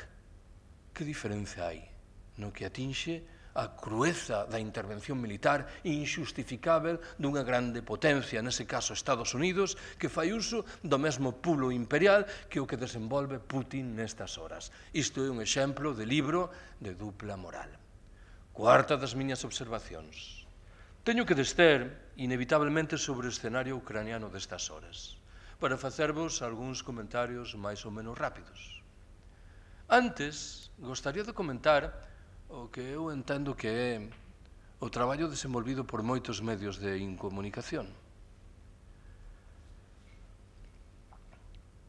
Que diferencia hai no que atinxe a crueza da intervención militar inxustificável dunha grande potencia, nese caso Estados Unidos, que fai uso do mesmo pulo imperial que o que desenvolve Putin nestas horas. Isto é un exemplo de libro de dupla moral. Cuarta das miñas observacións. Teño que descer, inevitablemente, sobre o escenario ucraniano destas horas, para facervos algúns comentarios máis ou menos rápidos. Antes, gostaría de comentar o que eu entendo que é o traballo desenvolvido por moitos medios de incomunicación.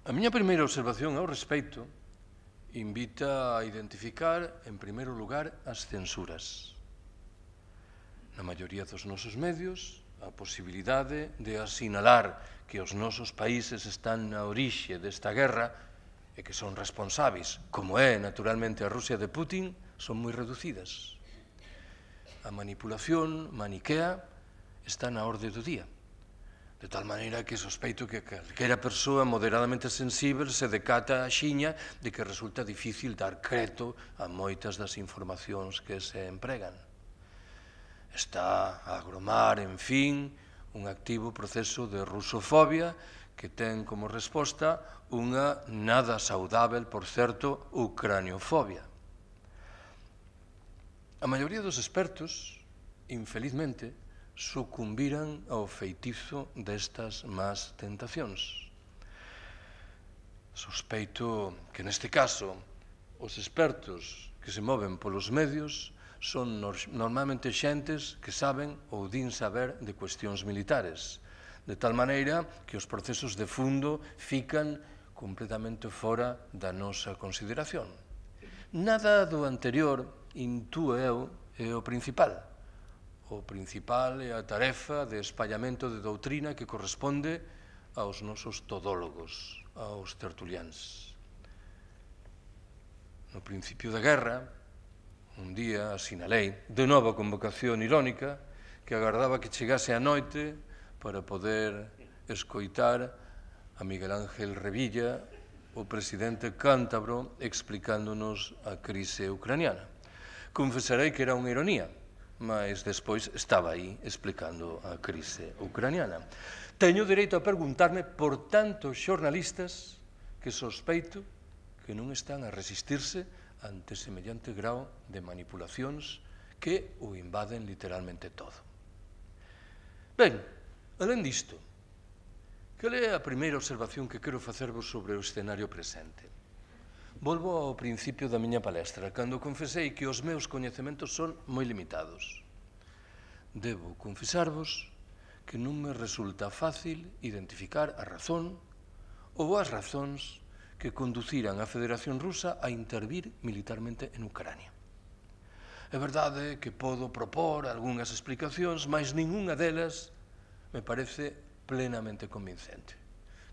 A miña primeira observación ao respecto invita a identificar, en primeiro lugar, as censuras. Na maioría dos nosos medios, a posibilidade de asinalar que os nosos países están na orixe desta guerra e que son responsáveis, como é, naturalmente, a Rusia de Putin, son moi reducidas. A manipulación maniquea está na orde do día, de tal maneira que sospeito que calquera persoa moderadamente sensível se decata a xiña de que resulta difícil dar creto a moitas das informacións que se empregan. Está a agromar, en fin, un activo proceso de rusofobia que ten como resposta unha nada saudável, por certo, ucraniofobia. A maioría dos expertos, infelizmente, sucumbiran ao feitizo destas más tentacións. Sospeito que neste caso os expertos que se moven polos medios son normalmente xentes que saben ou din saber de cuestións militares, de tal maneira que os procesos de fundo fican completamente fora da nosa consideración. Nada do anterior, intúe eu, é o principal. O principal é a tarefa de espallamento de doutrina que corresponde aos nosos todólogos, aos tertuliáns. No principio da guerra, un día asinalei, de novo a convocación irónica, que agardaba que chegase a noite para poder escoitar a Miguel Ángel Revilla, o presidente cántabro, explicándonos a crise ucraniana. Confesarei que era unha ironía, mas despois estaba aí explicando a crise ucraniana. Teño dereito a preguntarme por tantos xornalistas que sospeito que non están a resistirse ante semellante grau de manipulacións que o invaden literalmente todo. Ben, alén disto, cal é a primeira observación que quero facervos sobre o escenario presente? Volvo ao principio da miña palestra, cando confesei que os meus coñecementos son moi limitados. Debo confesarvos que non me resulta fácil identificar a razón ou as razóns que conduciran a Federación Rusa a intervir militarmente en Ucrania. É verdade que podo propor algunhas explicacións, mas ningunha delas me parece plenamente convincente.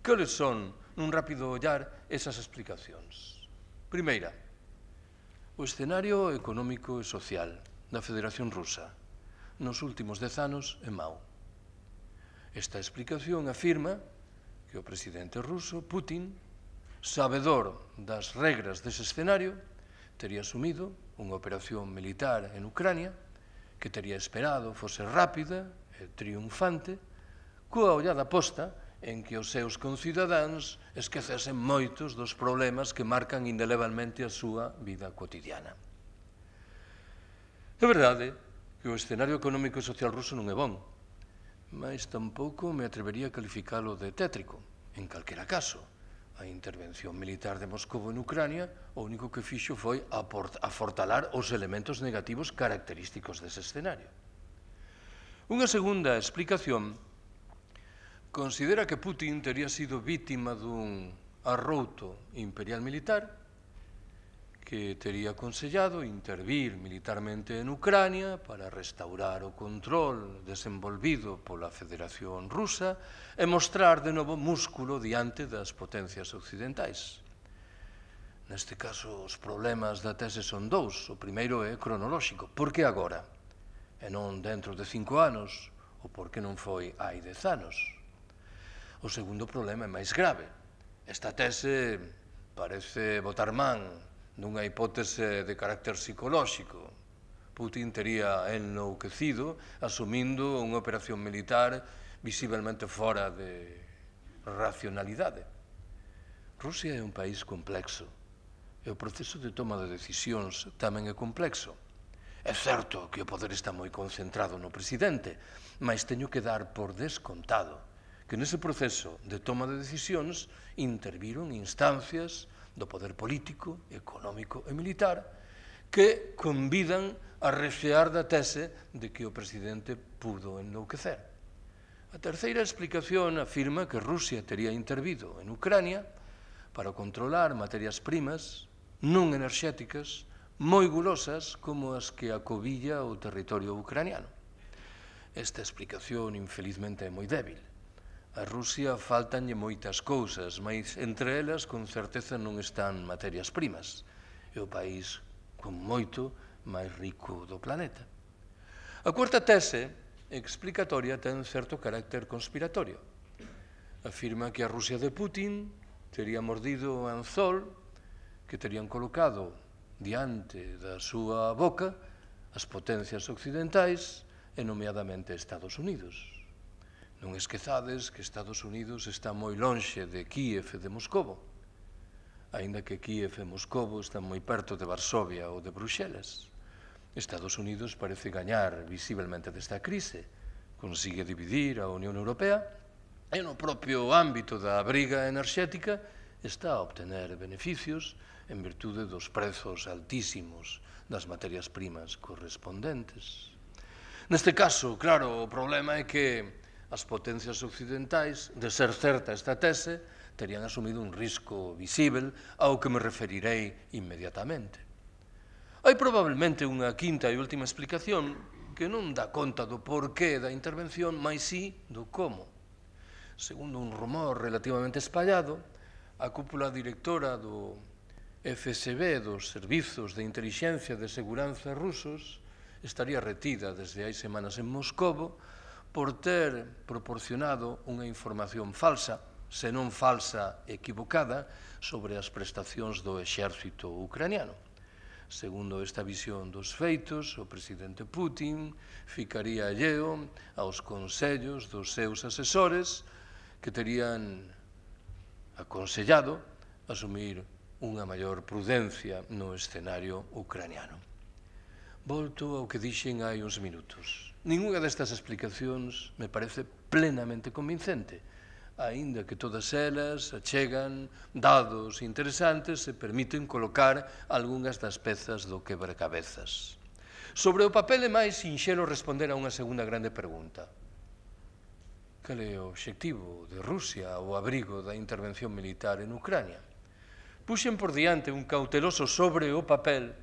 Cales son, nun rápido ollar, esas explicacións? Primeira, o escenario económico e social da Federación Rusa nos últimos 10 anos é mau. Esta explicación afirma que o presidente ruso, Putin, sabedor das regras dese escenario, tería asumido unha operación militar en Ucrania que tería esperado fose rápida e triunfante, coa ollada posta en que os seus concidadáns esquecesen moitos dos problemas que marcan indelevelmente a súa vida cotidiana. É verdade que o escenario económico e social ruso non é bon, mas tampouco me atrevería a calificalo de tétrico. En calquera caso, a intervención militar de Moscou en Ucrania o único que fixo foi afortalar os elementos negativos característicos dese escenario. Unha segunda explicación considera que Putin tería sido vítima dun arrouto imperial militar que tería aconsellado intervir militarmente en Ucrania para restaurar o control desenvolvido pola Federación Rusa e mostrar de novo músculo diante das potencias occidentais. Neste caso, os problemas da tese son dous. O primeiro é cronolóxico. Por que agora? E non dentro de 5 anos? Ou por que non foi hai 10 anos? O segundo problema é máis grave. Esta tese parece botar man dunha hipótese de carácter psicolóxico. Putin tería enlouquecido asumindo unha operación militar visiblemente fora de racionalidade. Rusia é un país complexo e o proceso de toma de decisións tamén é complexo. É certo que o poder está moi concentrado no presidente, mas teño que dar por descontado que nese proceso de toma de decisións interviron instancias do poder político, económico e militar que convidan a rexear da tese de que o presidente pudo enlouquecer. A terceira explicación afirma que Rusia tería intervido en Ucrania para controlar materias primas non enerxéticas moi gulosas como as que acobilla o territorio ucraniano. Esta explicación, infelizmente, é moi débil. A Rusia faltanlle moitas cousas, mas entre elas, con certeza, non están materias primas. É o país con moito máis rico do planeta. A cuarta tese explicatoria ten certo carácter conspiratorio. Afirma que a Rusia de Putin tería mordido o anzol que terían colocado diante da súa boca as potencias occidentais e nomeadamente Estados Unidos. Non esquezades que Estados Unidos está moi lonxe de Kíev e de Moscovo, aínda que Kíev e Moscovo están moi perto de Varsovia ou de Bruxelas. Estados Unidos parece gañar visiblemente desta crise, consigue dividir a Unión Europea e no propio ámbito da briga enerxética está a obtener beneficios en virtude dos prezos altísimos das materias primas correspondentes. Neste caso, claro, o problema é que as potencias occidentais, de ser certa esta tese, terían asumido un risco visível ao que me referirei inmediatamente. Hai probablemente unha quinta e última explicación que non dá conta do porqué da intervención, mais sí do como. Segundo un rumor relativamente espallado, a cúpula directora do FSB, dos Servizos de Intelixencia de Seguranza rusos, estaría retida desde hai semanas en Moscovo por ter proporcionado unha información falsa, se non falsa equivocada, sobre as prestacións do exército ucraniano. Segundo esta visión dos feitos, o presidente Putin ficaría alleo aos consellos dos seus asesores que terían aconsellado asumir unha maior prudencia no escenario ucraniano. Volto ao que dixen hai uns minutos. Ninguna destas explicacións me parece plenamente convincente, aínda que todas elas achegan dados interesantes e permiten colocar algunhas das pezas do quebracabezas. Sobre o papel é máis sinxelo responder a unha segunda grande pregunta. Cal é o obxectivo de Rusia ao abrigo da intervención militar en Ucrania? Puxen por diante un cauteloso sobre o papel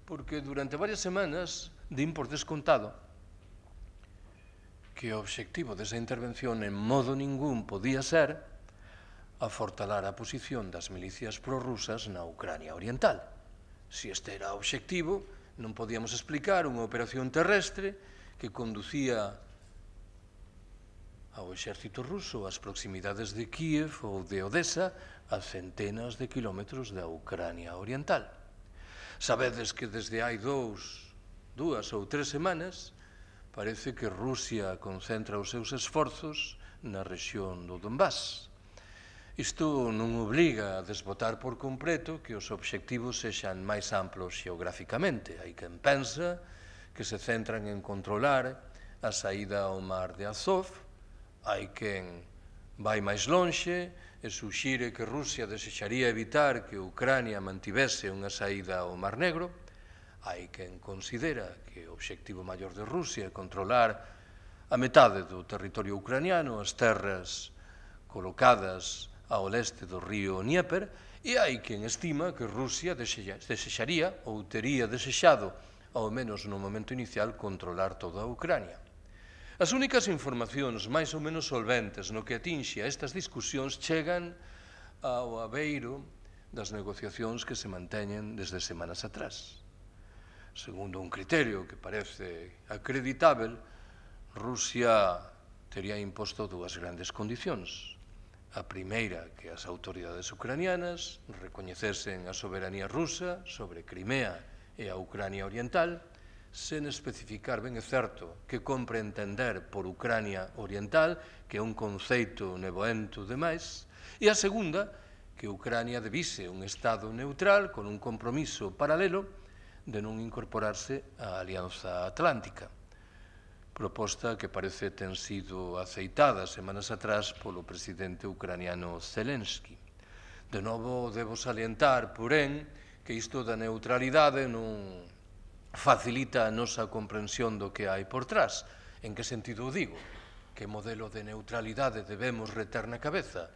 porque durante varias semanas din por descontado que o obxectivo desa intervención en modo ningún podía ser afortalar a posición das milicias prorrusas na Ucrania Oriental. Se este era o obxectivo, non podíamos explicar unha operación terrestre que conducía ao exército ruso ás proximidades de Kiev ou de Odessa a centenas de kilómetros da Ucrania Oriental. Sabedes que desde hai dúas ou tres semanas parece que Rusia concentra os seus esforzos na rexión do Donbass. Isto non obriga a desbotar por completo que os obxectivos sexan máis amplos xeográficamente. Hai quen pensa que se centran en controlar a saída ao mar de Azov, hai quen vai máis lonxe e suxire que Rusia desexaría evitar que Ucrania mantivese unha saída ao Mar Negro. Hai quen considera que o obxectivo maior de Rusia é controlar a metade do territorio ucraniano, as terras colocadas ao leste do río Dnieper, e hai quen estima que Rusia desexaría ou tería desexado, ao menos no momento inicial, controlar toda a Ucrania. As únicas informacións máis ou menos solventes no que atinxe a estas discusións chegan ao abeiro das negociacións que se manteñen desde semanas atrás. Segundo un criterio que parece acreditável, Rusia tería imposto dúas grandes condicións. A primeira, que as autoridades ucranianas recoñecesen a soberanía rusa sobre Crimea e a Ucrania Oriental, sen especificar, ben é certo, que compre entender por Ucrania Oriental, que é un conceito nevoento demais, e a segunda, que Ucrania debise un Estado neutral con un compromiso paralelo de non incorporarse á Alianza Atlántica, proposta que parece ten sido aceitada semanas atrás polo presidente ucraniano Zelensky. De novo, debo salientar, porén, que isto da neutralidade non facilita a nosa comprensión do que hai por trás. En que sentido o digo? Que modelo de neutralidade debemos reter na cabeza?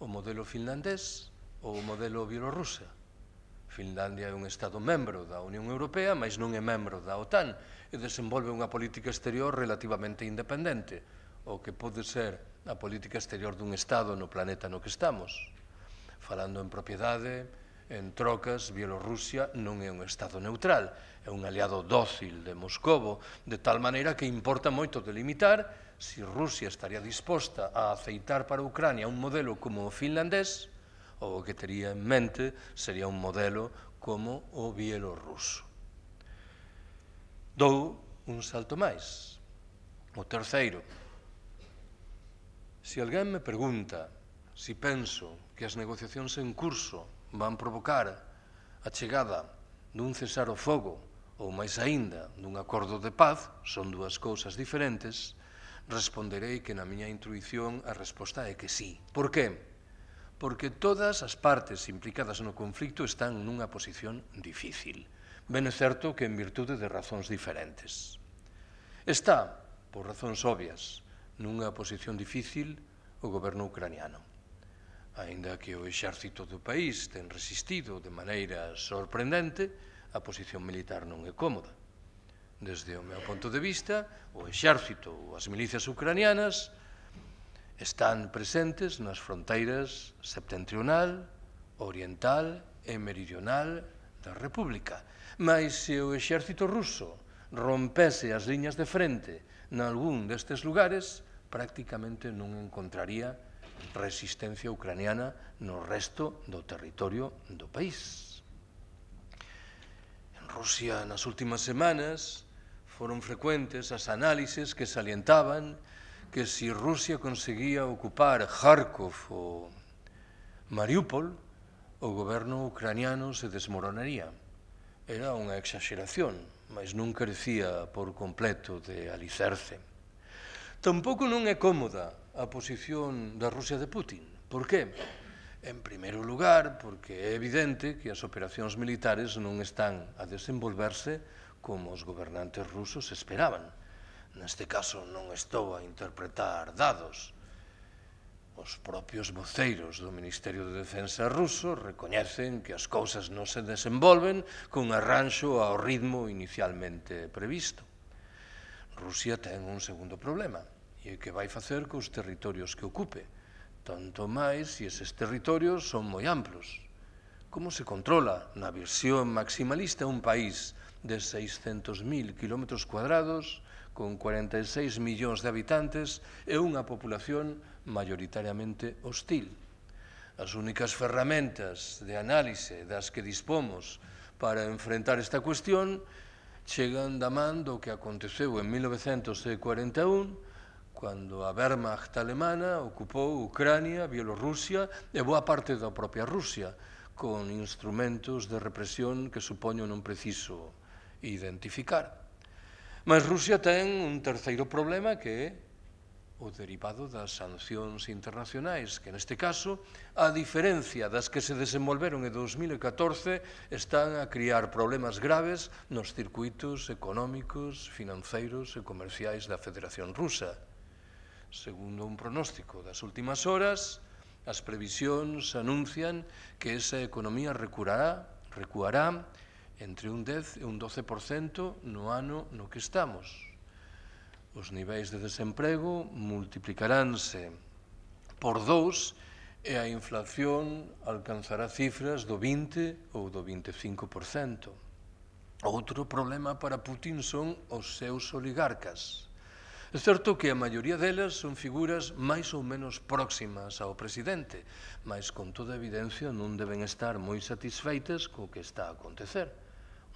O modelo finlandés ou o modelo bielorrusa? Finlandia é un Estado membro da Unión Europea, mas non é membro da OTAN e desenvolve unha política exterior relativamente independente, o que pode ser a política exterior dun Estado no planeta no que estamos. Falando en propiedade, en trocas, Bielorrusia non é un Estado neutral, é un aliado dócil de Moscovo, de tal maneira que importa moito delimitar se Rusia estaría disposta a aceitar para Ucrania un modelo como o finlandés, ou o que tería en mente sería un modelo como o bielorruso. Dou un salto máis. O terceiro. Se alguén me pregunta se penso que as negociacións en curso van provocar a chegada dun cesar o fogo ou máis aínda dun acordo de paz, son dúas cousas diferentes, responderei que na miña intuición a resposta é que sí. Por que? Porque todas as partes implicadas no conflicto están nunha posición difícil. Ben é certo que en virtude de razóns diferentes. Está, por razóns obvias, nunha posición difícil o goberno ucraniano. aínda que o exército do país ten resistido de maneira sorprendente, a posición militar non é cómoda. Desde o meu punto de vista, o exército ou as milicias ucranianas están presentes nas fronteiras septentrional, oriental e meridional da República. Mais se o exército ruso rompese as liñas de frente nalgún destes lugares, prácticamente non encontraría resistencia ucraniana no resto do territorio do país. En Rusia, nas últimas semanas, foron frecuentes as análises que salientaban que se Rusia conseguía ocupar Kharkov ou Mariupol, o goberno ucraniano se desmoronaría. Era unha exaxeración, mas non carecía por completo de alicerce. Tampouco non é cómoda a posición da Rusia de Putin. Por qué? En primeiro lugar, porque é evidente que as operacións militares non están a desenvolverse como os gobernantes rusos esperaban. Neste caso non estou a interpretar dados. Os propios voceiros do Ministerio de Defensa ruso recoñecen que as cousas non se desenvolven con arranxo ao ritmo inicialmente previsto. Rusia ten un segundo problema, e é que vai facer cos territorios que ocupe, tanto máis se eses territorios son moi amplos. Como se controla na visión maximalista un país de 600.000 km², con 46 millóns de habitantes e unha populación maioritariamente hostil? As únicas ferramentas de análise das que dispomos para enfrentar esta cuestión chegan da man do que aconteceu en 1941, cando a Wehrmacht alemana ocupou Ucrania, Bielorrusia e boa parte da propia Rusia, con instrumentos de represión que supoño non preciso identificar. Mas Rusia ten un terceiro problema que é o derivado das sancións internacionais, que neste caso, a diferencia das que se desenvolveron en 2014, están a criar problemas graves nos circuitos económicos, financeiros e comerciais da Federación Rusa. Segundo un pronóstico das últimas horas, as previsións anuncian que esa economía recuará entre un 10 e un 12% no ano no que estamos. Os niveis de desemprego multiplicaránse por 2 e a inflación alcanzará cifras do 20 ou do 25%. Outro problema para Putin son os seus oligarcas. É certo que a maioría delas son figuras máis ou menos próximas ao presidente, mas con toda evidencia non deben estar moi satisfeitas co que está a acontecer.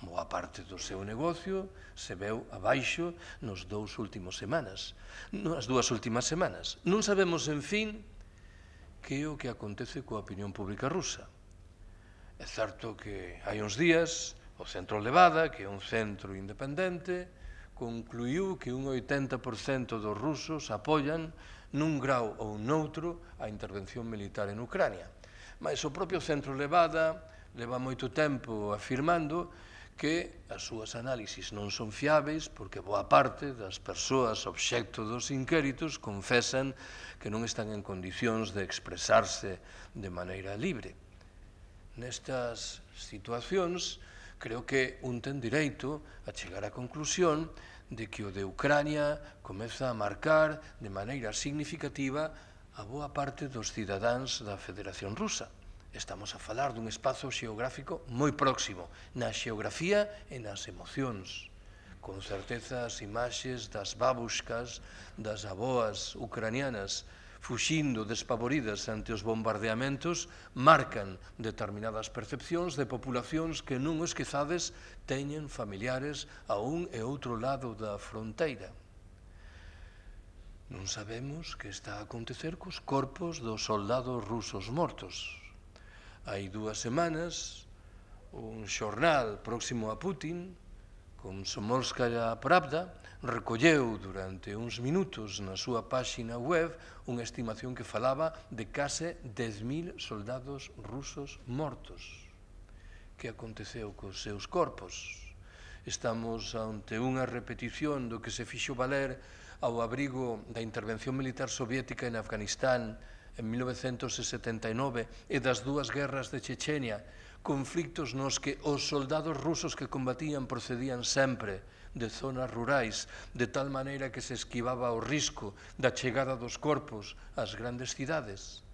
Boa parte do seu negocio se veu abaixo nas dúas últimas semanas. Non sabemos, en fin, que é o que acontece coa opinión pública rusa. É certo que hai uns días o Centro Levada, que é un centro independente, concluiu que un 80% dos rusos apoian nun grau ou noutro a intervención militar en Ucrania. Mas o propio Centro Levada leva moito tempo afirmando que as súas análisis non son fiáveis porque boa parte das persoas obxecto dos inquéritos confesan que non están en condicións de expresarse de maneira libre. Nestas situacións, creo que un ten direito a chegar á conclusión de que o de Ucrania comeza a marcar de maneira significativa a boa parte dos cidadáns da Federación Rusa. Estamos a falar dun espazo xeográfico moi próximo, na xeografía e nas emocións. Con certeza as imaxes das babushkas, das aboas ucranianas, fuxindo despavoridas ante os bombardeamentos, marcan determinadas percepcións de populacións que non o esquezades teñen familiares a un e outro lado da fronteira. Non sabemos que está a acontecer cos corpos dos soldados rusos mortos. Hai 2 semanas, un xornal próximo a Putin, Komsomolskaya Pravda, recolleu durante uns minutos na súa páxina web unha estimación que falaba de case 10.000 soldados rusos mortos. Que aconteceu cos seus corpos? Estamos ante unha repetición do que se fixo valer ao abrigo da intervención militar soviética en Afganistán en 1979 e das dúas guerras de Chechenia, conflictos nos que os soldados rusos que combatían procedían sempre de zonas rurais, de tal maneira que se esquivaba o risco da chegada dos corpos ás grandes cidades.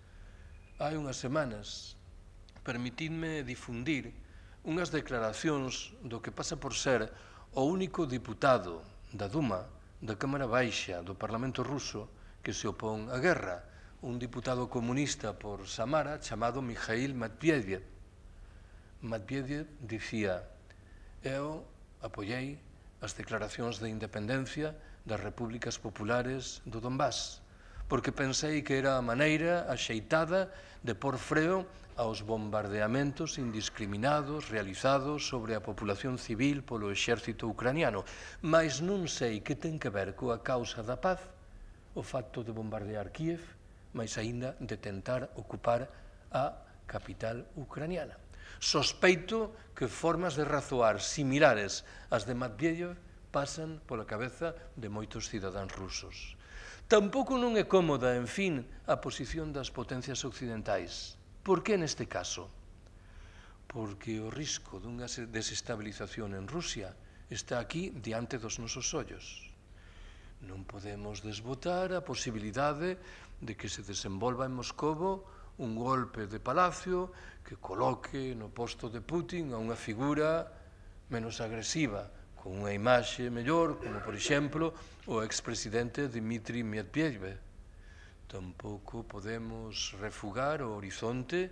Hai unhas semanas, permitidme difundir unhas declaracións do que pasa por ser o único diputado da Duma, da Cámara Baixa do Parlamento ruso, que se opón á guerra, un diputado comunista por Samara chamado Mikhail Medvedev. Medvedev dicía: eu apoiei as declaracións de independencia das repúblicas populares do Donbass, porque pensei que era a maneira axeitada de pôr freo aos bombardeamentos indiscriminados realizados sobre a populación civil polo exército ucraniano, mas non sei que ten que ver coa causa da paz o facto de bombardear Kiev, mas aínda de tentar ocupar a capital ucraniana. Sospeito que formas de razoar similares ás de Medvedev pasan pola cabeza de moitos cidadáns rusos. Tampouco non é cómoda, en fin, a posición das potencias occidentais. Por que neste caso? Porque o risco dunha desestabilización en Rusia está aquí diante dos nosos ollos. Non podemos desbotar a posibilidade de que se desenvolva en Moscovo un golpe de palacio que coloque no posto de Putin a unha figura menos agresiva, con unha imaxe mellor, como, por exemplo, o expresidente Dmitry Medvedev. Tampouco podemos refugar o horizonte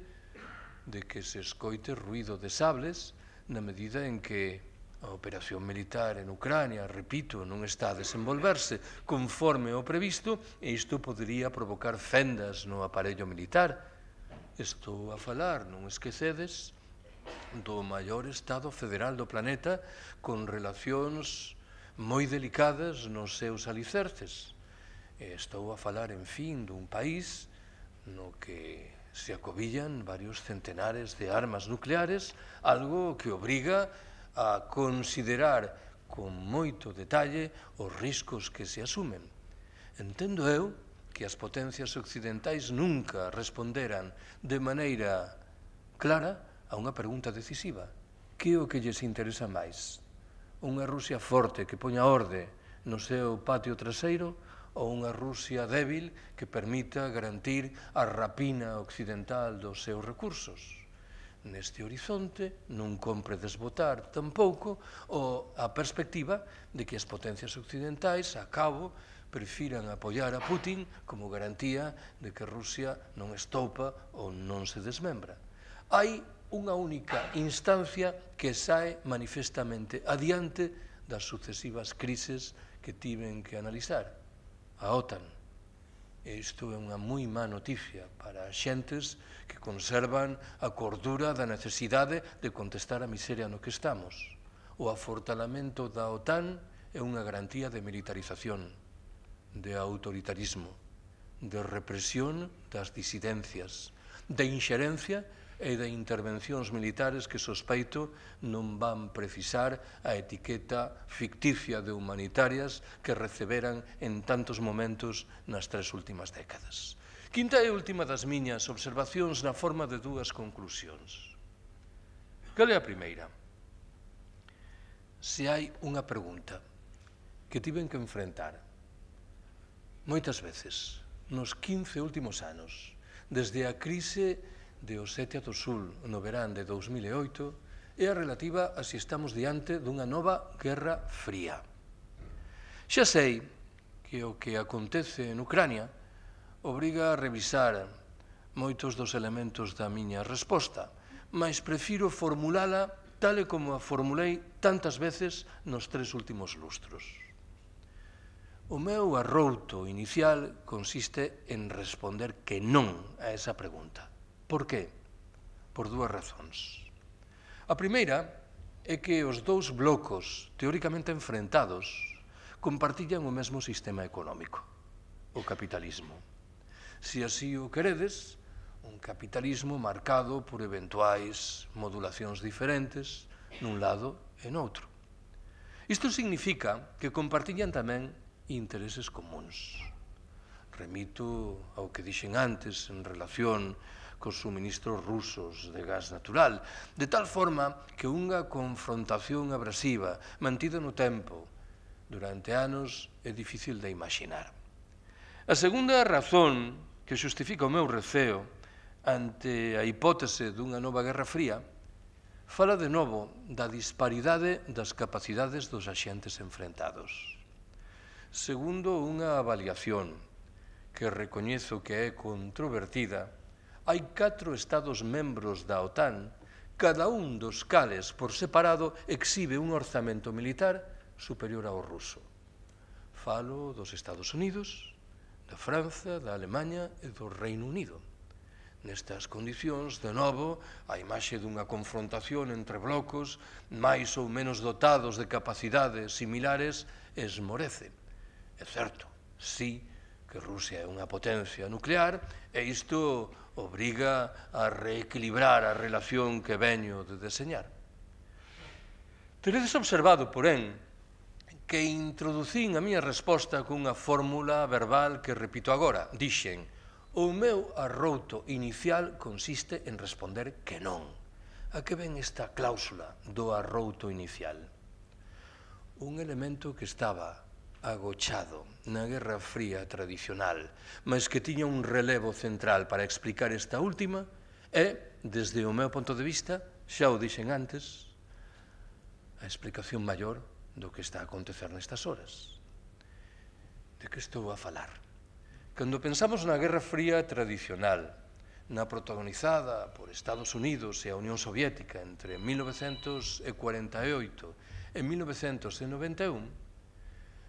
de que se escoite ruído de sables na medida en que a operación militar en Ucrania, repito, non está a desenvolverse conforme o previsto e isto podería provocar fendas no aparello militar. Estou a falar, non esquecedes, do maior Estado federal do planeta con relacións moi delicadas nos seus alicerces. Estou a falar, en fin, dun país no que se acobillan varios centenares de armas nucleares, algo que obriga a considerar con moito detalle os riscos que se asumen. Entendo eu que as potencias occidentais nunca responderan de maneira clara a unha pregunta decisiva. Que é o que lles interesa máis? Unha Rusia forte que poña orde no seu patio traseiro ou unha Rusia débil que permita garantir a rapina occidental dos seus recursos? Neste horizonte non compre desbotar tampouco a perspectiva de que as potencias occidentais, a cabo, prefiran apoiar a Putin como garantía de que Rusia non estoupa ou non se desmembra. Hai unha única instancia que sae manifestamente adiante das sucesivas crises que tiven que analizar: a OTAN. Isto é unha moi má noticia para as xentes que conservan a cordura da necesidade de contestar a miseria no que estamos. O afortalamento da OTAN é unha garantía de militarización, de autoritarismo, de represión das disidencias, de inxerencia e de intervencións militares que sospeito non van precisar a etiqueta ficticia de humanitarias que receberan en tantos momentos nas 3 últimas décadas. Quinta e última das miñas observacións na forma de 2 conclusións. Cal é a primeira? Se hai unha pregunta que tiven que enfrentar moitas veces nos 15 últimos anos, desde a crise de Osetia do Sul no verán de 2008, é a relativa a se estamos diante dunha nova guerra fría. Xa sei que o que acontece en Ucrania obriga a revisar moitos dos elementos da miña resposta, mas prefiro formulala tal e como a formulei tantas veces nos 3 últimos lustros. O meu arrouto inicial consiste en responder que non a esa pregunta. Por qué? Por 2 razóns. A primeira é que os 2 blocos teóricamente enfrentados compartillan o mesmo sistema económico, o capitalismo. Se así o queredes, un capitalismo marcado por eventuais modulacións diferentes nun lado e noutro. Isto significa que compartillan tamén intereses comuns. Remito ao que dixen antes en relación cos suministros rusos de gas natural, de tal forma que unha confrontación abrasiva mantida no tempo durante anos é difícil de imaginar. A segunda razón que xustifica o meu receo ante a hipótese dunha nova Guerra Fría fala de novo da disparidade das capacidades dos axentes enfrentados. Segundo unha avaliación que recoñezo que é controvertida, hai 4 Estados membros da OTAN, cada un dos cales por separado exhibe un orzamento militar superior ao ruso. Falo dos Estados Unidos, da França, da Alemanha e do Reino Unido. Nestas condicións, de novo, a imaxe dunha confrontación entre blocos máis ou menos dotados de capacidades similares esmorece. É certo, sí, que Rusia é unha potencia nuclear e isto obriga a reequilibrar a relación que veño de deseñar. Teredes observado, porén, que introducín a miña resposta cunha fórmula verbal que repito agora. Dixen: o meu arrouto inicial consiste en responder que non. A que ven esta cláusula do arrouto inicial? Un elemento que estaba agochado na Guerra Fría tradicional, mas que tiña un relevo central para explicar esta última, é, desde o meu punto de vista, xa o dixen antes, a explicación maior do que está a acontecer nestas horas. De que estou a falar? Cando pensamos na Guerra Fría tradicional, na protagonizada por Estados Unidos e a Unión Soviética entre 1948 e 1991,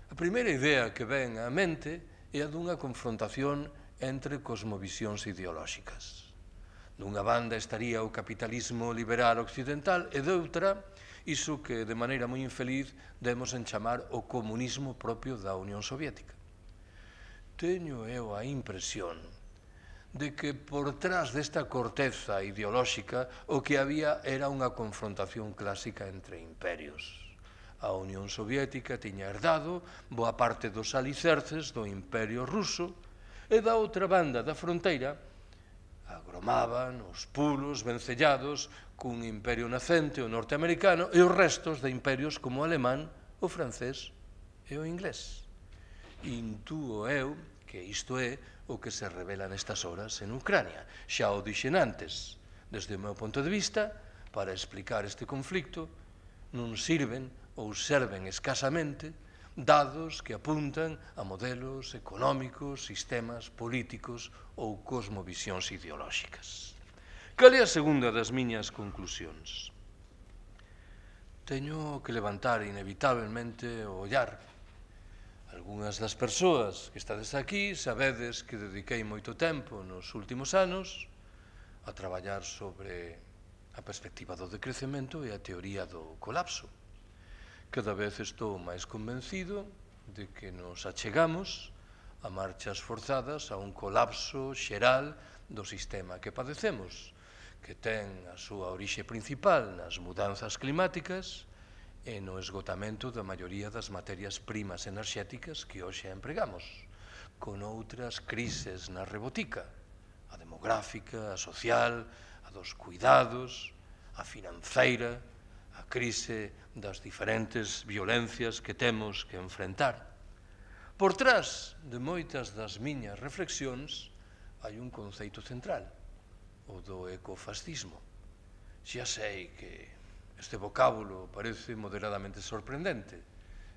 a primeira idea que ven á mente é a dunha confrontación entre cosmovisións ideolóxicas. Dunha banda estaría o capitalismo liberal occidental e doutra, iso que de maneira moi infeliz demos en chamar o comunismo propio da Unión Soviética. Teño eu a impresión de que por trás desta corteza ideolóxica o que había era unha confrontación clásica entre imperios. A Unión Soviética tiña herdado boa parte dos alicerces do Imperio Ruso e da outra banda da fronteira agromaban os pulos vencellados cun imperio nacente, o norteamericano, e os restos de imperios como o alemán, o francés e o inglés. Intúo eu que isto é o que se revela nestas horas en Ucrania. Xa o dixen antes, desde o meu punto de vista, para explicar este conflicto, non sirven ou serven escasamente dados que apuntan a modelos económicos, sistemas políticos ou cosmovisións ideolóxicas. Cal é a segunda das miñas conclusións? Teño que levantar inevitablemente o ollar. Algúnas das persoas que estades aquí sabedes que dediquei moito tempo nos últimos anos a traballar sobre a perspectiva do decrecemento e a teoría do colapso. Cada vez estou máis convencido de que nos achegamos a marchas forzadas a un colapso xeral do sistema que padecemos, que ten a súa orixe principal nas mudanzas climáticas e no esgotamento da maioría das materias primas enerxéticas que hoxe empregamos, con outras crises na rebotica, a demográfica, a social, a dos cuidados, a financeira, a crise das diferentes violencias que temos que enfrentar. Por trás de moitas das miñas reflexións hai un conceito central, o do ecofascismo. Xa sei que este vocábulo parece moderadamente sorprendente.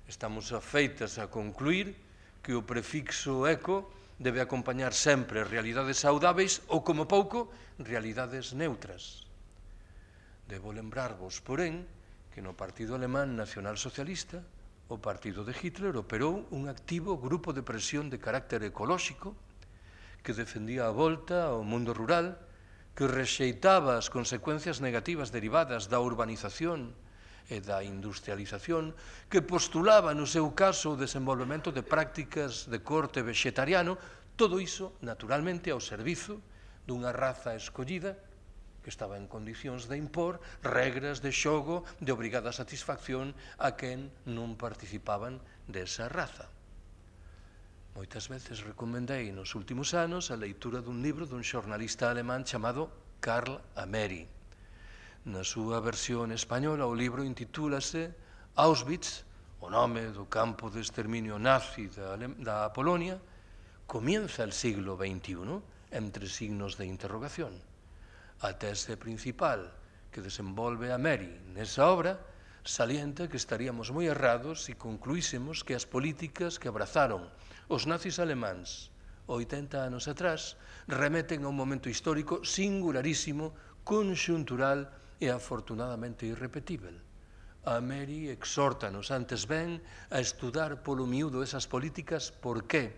Estamos afeitas a concluir que o prefixo eco debe acompañar sempre realidades saudáveis ou, como pouco, realidades neutras. Debo lembrarvos, porén, que no Partido Alemán Nacionalsocialista, o partido de Hitler, operou un activo grupo de presión de carácter ecolóxico que defendía a volta ao mundo rural, que rexeitaba as consecuencias negativas derivadas da urbanización e da industrialización, que postulaba, no seu caso, o desenvolvemento de prácticas de corte vegetariano, todo iso, naturalmente, ao servizo dunha raza escollida que estaba en condicións de impor regras de xogo de obrigada satisfacción a quen non participaban desa raza. Moitas veces recomendei nos últimos anos a leitura dun libro dun xornalista alemán chamado Karl Ameri. Na súa versión española, o libro intitúlase Auschwitz, o nome do campo de exterminio nazi da Polonia, comienza el siglo XXI, entre signos de interrogación. A tese principal que desenvolve Ameri nesa obra salienta que estaríamos moi errados se concluísemos que as políticas que abrazaron os nazis alemáns 80 anos atrás remeten a un momento histórico singularísimo, conxuntural e afortunadamente irrepetível. Ameri exhórtanos antes ben a estudar polo miúdo esas políticas. Por qué?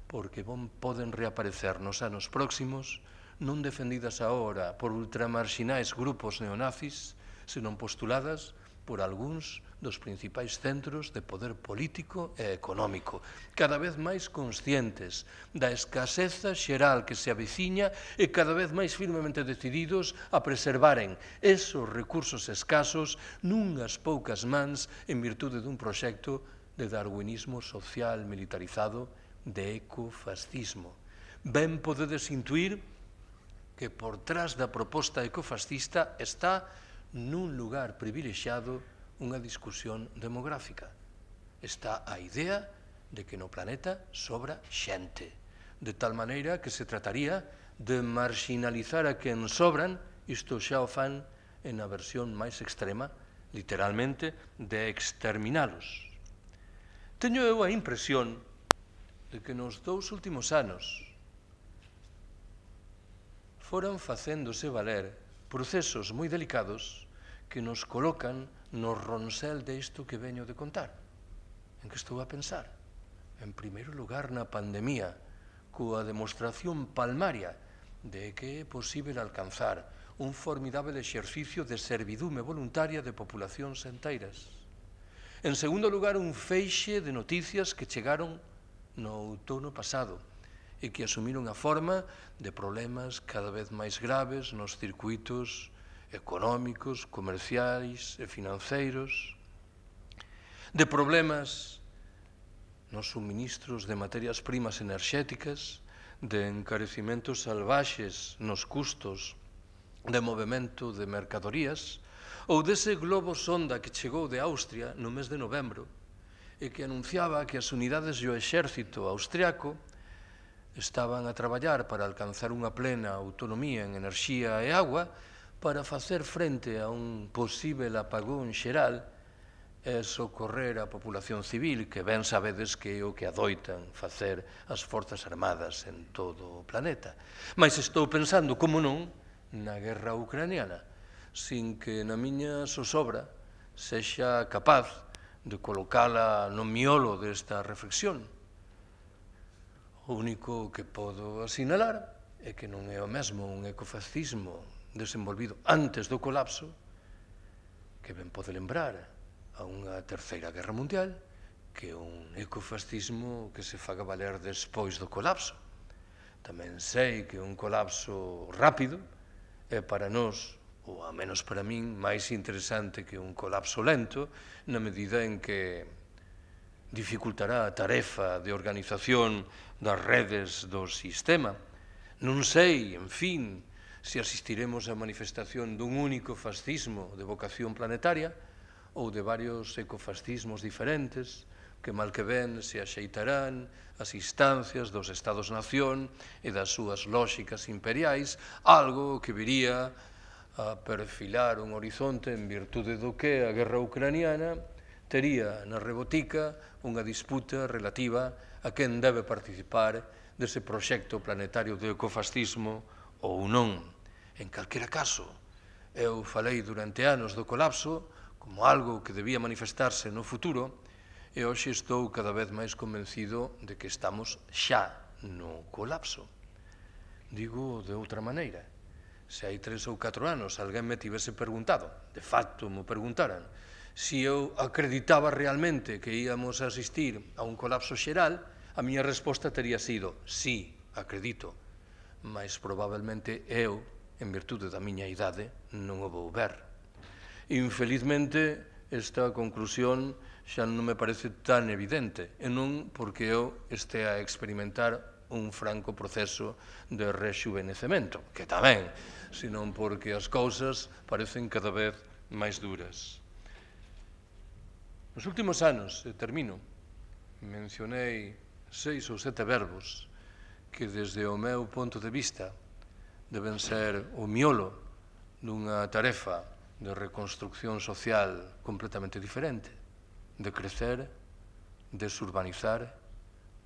Porque poden reaparecer nos anos próximos non defendidas agora por ultramarxinais grupos neonazis, senón postuladas por algúns dos principais centros de poder político e económico, cada vez máis conscientes da escaseza xeral que se aveciña e cada vez máis firmemente decididos a preservaren esos recursos escasos nunhas poucas mans en virtude dun proxecto de darwinismo social militarizado, de ecofascismo. Ben podedes intuir que por trás da proposta ecofascista está nun lugar privilexiado unha discusión demográfica. Está a idea de que no planeta sobra xente, de tal maneira que se trataría de marginalizar a quen sobran, isto xa o fan en a versión máis extrema, literalmente, de exterminalos. Teño eu a impresión de que nos 2 últimos anos foran facéndose valer procesos moi delicados que nos colocan no ronsel disto que veño de contar. En que estou a pensar? En primeiro lugar, na pandemia, coa demostración palmaria de que é posible alcanzar un formidável exercicio de servidume voluntaria de populacións enteiras. En segundo lugar, un feixe de noticias que chegaron no outono pasado e que asumiron a forma de problemas cada vez máis graves nos circuitos económicos, comerciais e financeiros, de problemas nos suministros de materias primas enerxéticas, de encarecimentos salvaxes nos custos de movimento de mercadorías, ou dese globo sonda que chegou de Austria no mes de novembro e que anunciaba que as unidades do exército austriaco estaban a traballar para alcanzar unha plena autonomía en enerxía e agua para facer frente a un posible apagón xeral e socorrer a populación civil, que ben sabedes que é o que adoitan facer as forzas armadas en todo o planeta. Mas estou pensando, como non, na guerra ucraniana, sin que na miña zozobra sexa capaz de colocala no miolo desta reflexión. O único que podo asinalar é que non é o mesmo un ecofascismo desenvolvido antes do colapso, que ben pode lembrar a unha terceira guerra mundial, que un ecofascismo que se faga valer despois do colapso. Tamén sei que un colapso rápido é para nós, ou a menos para min, máis interesante que un colapso lento, na medida en que dificultará a tarefa de organización das redes do sistema. Non sei, en fin, se asistiremos a manifestación dun único fascismo de vocación planetaria ou de varios ecofascismos diferentes que mal que ben se axeitarán as instancias dos Estados-nación e das súas lóxicas imperiais, algo que viría a perfilar un horizonte en virtude do que a guerra ucraniana tería na rebotica unha disputa relativa a quen debe participar dese proxecto planetario de ecofascismo ou non. En calquera caso, eu falei durante anos do colapso como algo que debía manifestarse no futuro e hoxe estou cada vez máis convencido de que estamos xa no colapso. Digo de outra maneira, se hai 3 ou 4 anos alguén me tivese preguntado, de facto me preguntaran, se eu acreditaba realmente que íamos a asistir a un colapso xeral, a miña resposta tería sido, sí, acredito, mas probablemente eu, en virtude da miña idade, non o vou ver. Infelizmente, esta conclusión xa non me parece tan evidente, e non porque eu estea a experimentar un franco proceso de rexuvenecemento, que tamén, senón porque as cousas parecen cada vez máis duras. Nos últimos anos, e termino, mencionei 6 ou 7 verbos que desde o meu punto de vista deben ser o miolo dunha tarefa de reconstrucción social completamente diferente, de crecer, desurbanizar,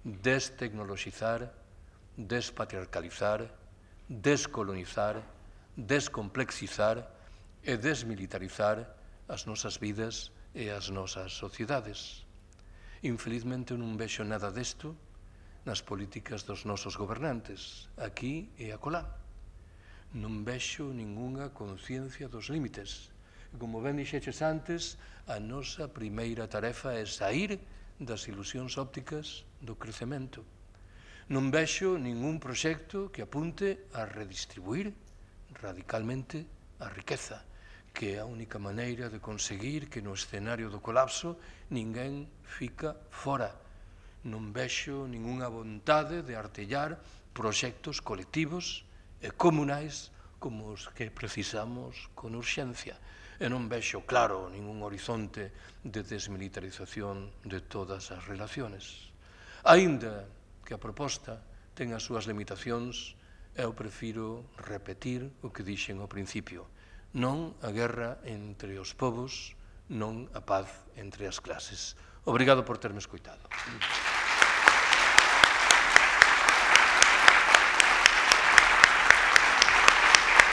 destecnoloxizar, despatriarcalizar, descolonizar, descomplexizar e desmilitarizar as nosas vidas e as nosas sociedades. Infelizmente non vexo nada desto nas políticas dos nosos gobernantes, aquí e acolá. Non vexo ningunha conciencia dos límites. E como ben dixeches antes, a nosa primeira tarefa é saír das ilusións ópticas do crecemento. Non vexo ningún proxecto que apunte a redistribuir radicalmente a riqueza, que é a única maneira de conseguir que no escenario do colapso ninguén fica fora. Non vexo ningunha vontade de artellar proxectos colectivos e comunais como os que precisamos con urxencia. E non vexo claro ningún horizonte de desmilitarización de todas as relaciones. Aínda que a proposta ten as súas limitacións, eu prefiro repetir o que dixen ao principio. Non a guerra entre os povos, non a paz entre as clases. Obrigado por terme escoitado.